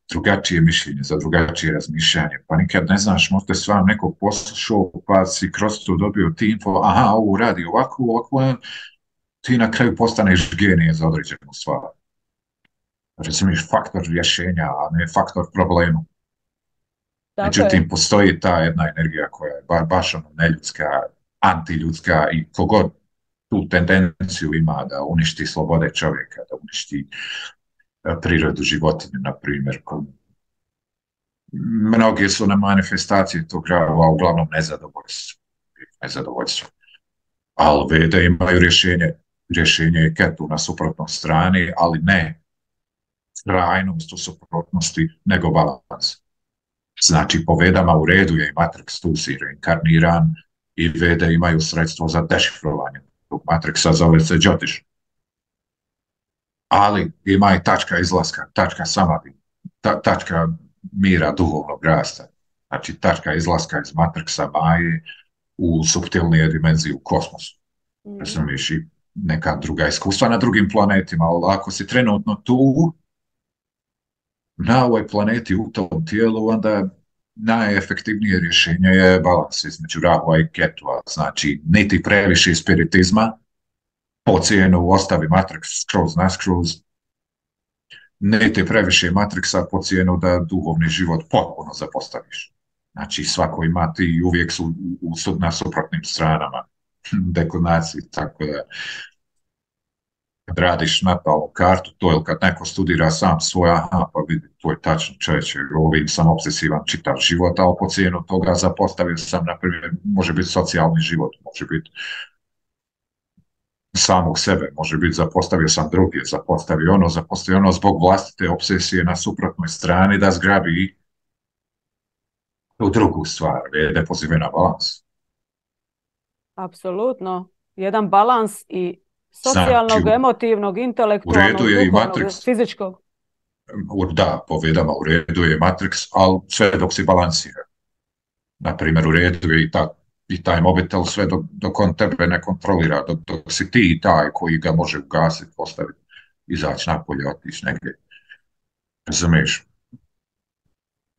drugačije mišljenje, za drugačije razmišljanje. Pa nikad ne znaš, možda je s vam nekog poslušao, pa si kroz to dobio ti info, aha, ovo radi ovako, ti na kraju postaneš genije za određenu stvar. Recimo, faktor rješenja, a ne faktor problema. Međutim, postoji ta jedna energija koja je baš ono neljudska, antiljudska i kogod tu tendenciju ima da uništi slobode čovjeka, da uništi prirodu životinje, na primjer. Mnogi su na manifestacije tog grava uglavnom nezadovoljstvo. Ali Vede imaju rješenje je Ketu na suprotnoj strani, ali ne trajnost u suprotnosti, nego balans. Znači, po Vedama u redu je i Matrix tu si reinkarniran i Vede imaju sredstvo za dešifrovanje tog Matrixa, zove se Jyotish. Ali ima i tačka izlaska, tačka samadhi, tačka mira duhovnog rasta. Znači, tačka izlaska iz Matrixa Maje u suptilnije dimenzije u kosmosu. Razumiješ, i neka druga iskustva na drugim planetima, ali ako si trenutno tu, na ovoj planeti u tom tijelu, onda najefektivnije rješenje je balans između Rahua i Ketua. Znači, niti previše spiritizma, po cijenu ostavi Matrix skroz, niti previše Matrixa po cijenu da duhovni život potpuno zapostaviš. Znači, svako ima ti uvijek su na suprotnim stranama. deklinacije, tako da kad radiš natalnu kartu, to je kad neko studira sam svoj, aha, pa vidi, to je tačno čovječe, ovim sam obsesivan čitav život, ali po cijenu toga zapostavio sam, na primjer, može biti socijalni život, može biti samog sebe, može biti zapostavio sam druge, zapostavio ono zbog vlastite obsesije na suprotnoj strani da zgrabi u drugu stvar, ne pozive na balans. Apsolutno. Jedan balans i Znači, socijalnog, emotivnog, u redu intelektualnog, je i duhovnog, Matrix, fizičkog. da, povedama, u redu je Matrix, ali sve dok si balansira. Na primjer, u redu je i taj mobitel sve dok on tebe ne kontrolira, dok si ti taj koji ga može ugasiti, postaviti, izaći napolje, otići negdje. Razumiješ?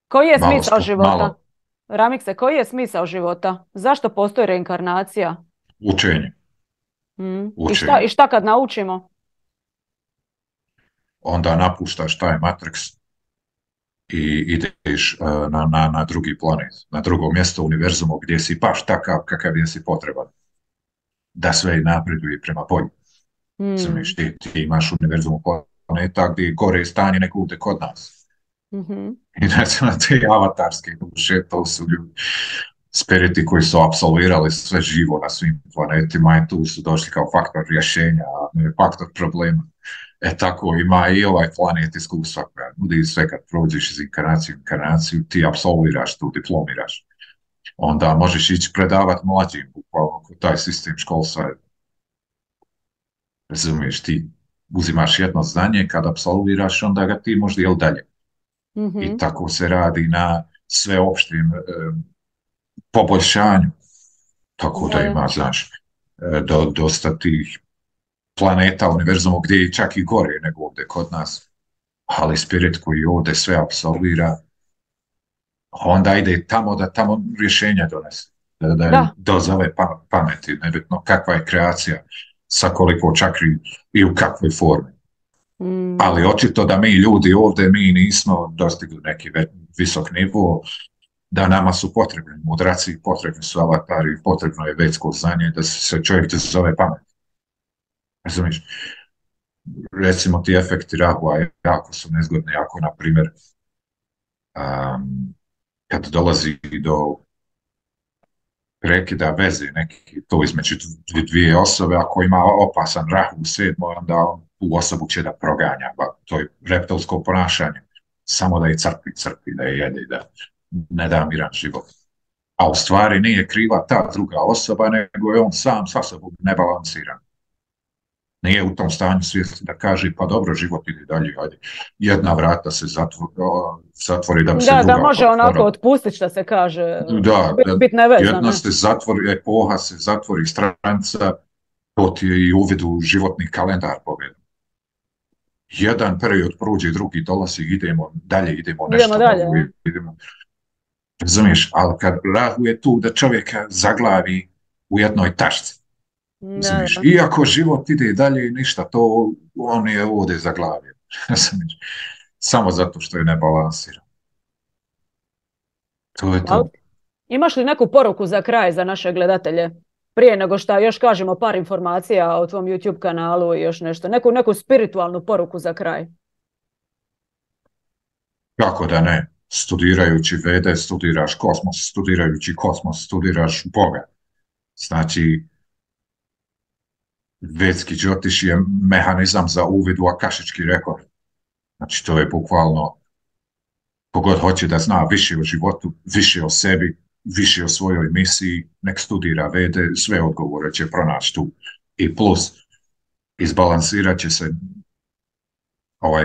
Koji je smisao života? Malo Ramikse, koji je smisao života? Zašto postoji reinkarnacija? učenje. I šta kad naučimo? Onda napuštaš taj Matrix i ideš na drugi planet, na drugo mjesto u univerzumu gdje si baš takav kakav je si potreban. Da sve napreduje prema bolju. Razumiješ, ti imaš univerzum planeta gdje gore stanje nego ovdje kod nas. I recimo te avatarske duše, to su ljudi, spiriti koji su apsolvirali sve živo na svim planetima i tu su došli kao faktor rješenja, a ne faktor problema. Tako ima i ovaj planet iskustva koja nudi sve kad prođeš iz inkarnaciju, ti apsolviraš tu, diplomiraš. Onda možeš ići predavati mlađim, bukvalno taj sistem školstva. Razumiješ, ti uzimaš jedno znanje, kad apsolviraš, onda ga ti možeš dijel dalje. I tako se radi na sveopštim poboljšanju. Tako da ima, znaš, dosta tih planeta, univerzuma gdje je čak i gore nego ovdje kod nas. Ali spirit koji ovdje sve apsolvira, onda ide tamo da tamo rješenja donese. Da dozove pameti, nebitno kakva je kreacija, sa koliko čakri i u kakvoj formi. Ali očito da mi ljudi ovdje, mi nismo dostigli neki visok nivo, da nama su potrebni mudraci, potrebni su avatari, potrebno je vetsko znanje, da se čovjek zove pamet. Razumiješ? Recimo ti efekti Rahua jako su nezgodni, jako, na primjer, kad dolazi do prekida veze, neki to između dvije osobe, ako ima opasan Rahu u 7, onda on tu osobu će da proganja, to je reptilsko ponašanje, samo da je crpi, da je jede, da ne da miran život. A u stvari nije kriva ta druga osoba, nego je on sam sa sobom nebalansiran. Nije u tom stanju svijesti da kaže, pa dobro, život ide dalje, ajde. Jedna vrata se zatvori da bi se druga da može onako otpustiti, što se kaže. Bit nevezan. Jedna se zatvori, epoha se zatvori, stranica, to ti je i uvid u životni kalendar povedan. Jedan period prođe, drugi dolazi, idemo nešto novo, idemo. Razumiješ, ali kad Rahu je tu da čovjeka zaglavi u jednoj tašci. Iako život ide dalje i ništa, to on je ovdje zaglavio. Samo zato što je nebalansiran. To je to. Imaš li neku poruku za kraj za naše gledatelje? Prije nego što još kažemo par informacija o tvom YouTube kanalu i još nešto. Neku spiritualnu poruku za kraj. Kako da ne? Studirajući Vede, studiraš kosmos, studirajući kosmos, studiraš Boga. Znači, vedski džotiš je mehanizam za uvid u akašički rekord. Znači, to je bukvalno, kogod hoće da zna više o životu, više o sebi, više o svojoj misiji, nek studira Vede, sve odgovore će pronaći tu. I plus, izbalansirat će se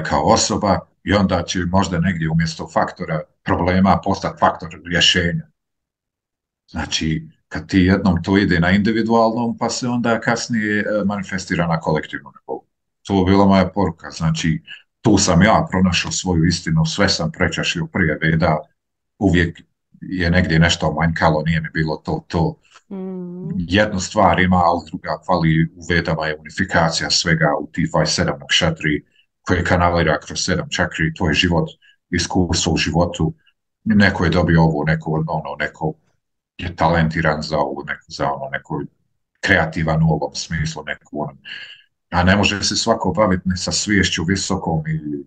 kao osoba i onda će možda negdje umjesto faktora problema postati faktor rješenja. Znači, kad ti jednom to ide na individualnom, pa se onda kasnije manifestira na kolektivnom nivou. To je bila moja poruka. Znači, tu sam ja pronašao svoju istinu, sve sam prečašio prije Veda, uvijek je negdje nešto manjkalo, nije mi bilo to. Jednu stvar ima, ali druga fali. U Vedama je unifikacija svega u tih 27 nakšatri koje kanalira kroz 7 čakri, to je život, iskustvo u životu. Neko je dobio ovo, neko je talentiran za ovo, neko kreativan u ovom smislu neku. A ne može se svako baviti sa sviješću visokom i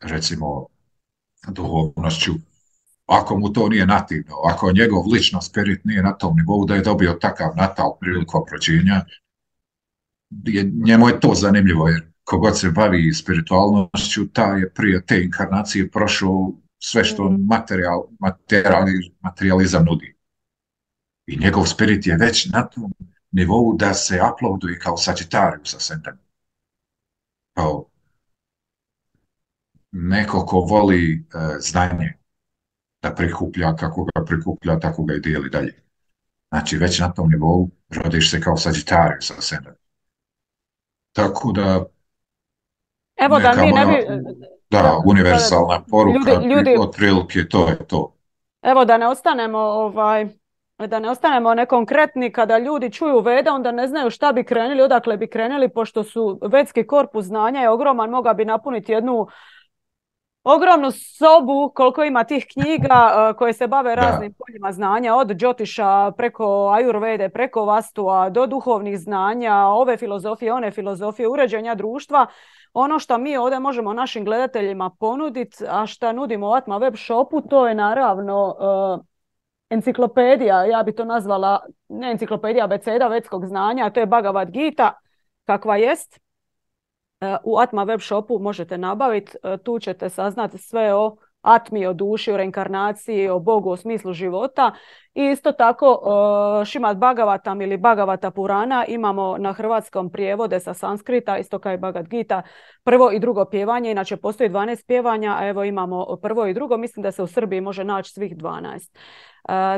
recimo duhovnošću ako mu to nije nativno, ako njegov ličnost spirit nije na tom nivou da je dobio takav natal prilikom rođenja, njemu je to zanimljivo, jer kogod se bavi spiritualnošću, taj je prije te inkarnacije prošao sve što materializam nudi. I njegov spirit je već na tom nivou da se uploaduje kao Sagittarius ascendant. Kao neko ko voli znanje da prikuplja, kako ga prikuplja, tako ga i dijeli dalje. Znači, već na tom nivou rodiš se kao Sagittarius ascendant. Tako da evo da mi ne bi... Da, univerzalna poruka, otprilike to je to. Evo da ne ostanemo nekonkretni, kada ljudi čuju Vede, onda ne znaju šta bi krenuli, odakle bi krenuli, pošto su vedski korpus znanja je ogroman, mogao bi napuniti jednu ogromnu sobu koliko ima tih knjiga koje se bave raznim poljima znanja, od Džotiša preko Ajurvede, preko Vastua, do duhovnih znanja, ove filozofije, one filozofije, uređenja društva. Ono što mi ovdje možemo našim gledateljima ponuditi, a što nudimo u Atma web shopu, to je naravno enciklopedija, ja bi to nazvala, ne enciklopedija, abeceda vedskog znanja, to je Bhagavad Gita, kakva jest. U Atma web shopu možete nabaviti, tu ćete saznati sve o Atmi, o duši, o reinkarnaciji, o Bogu, o smislu života. I isto tako Šimad Bhagavatam ili Bhagavata Purana imamo na hrvatskom prijevode sa sanskrita, isto kao i Bhagavad Gita, prvo i drugo pjevanje, inače postoji 12 pjevanja, a evo imamo prvo i drugo, mislim da se u Srbiji može naći svih 12.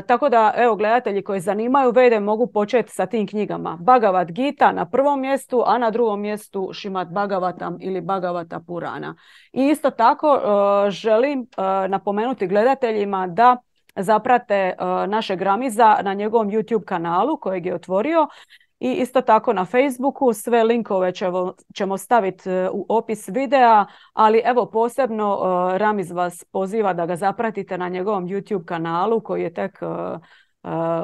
Tako da, evo, gledatelji koji zanimaju Vede mogu početi sa tim knjigama. Bhagavad Gita na prvom mjestu, a na drugom mjestu Šimad Bhagavatam ili Bhagavata Purana. I isto tako želim napomenuti gledateljima da zaprate našeg Ramiza na njegovom YouTube kanalu kojeg je otvorio. I isto tako na Facebooku, sve linkove ćemo staviti u opis videa, ali evo posebno Ramiz vas poziva da ga zapratite na njegovom YouTube kanalu koji je tek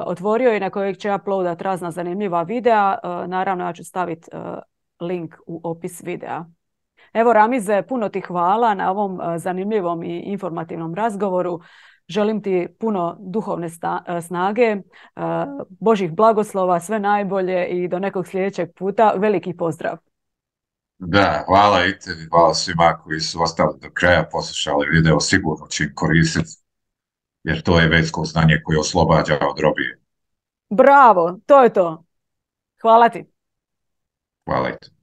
otvorio i na kojeg će uploadat razna zanimljiva videa. Naravno ja ću staviti link u opis videa. Evo Ramize, puno ti hvala na ovom zanimljivom i informativnom razgovoru. Želim ti puno duhovne snage, Božih blagoslova, sve najbolje i do nekog sljedećeg puta. Veliki pozdrav. Da, hvala i tebi, hvala svima koji su ostali do kraja, poslušali video, sigurno će im koristiti, jer to je vedsko znanje koje oslobađa od robije. Bravo, to je to. Hvala ti. Hvala i tebi.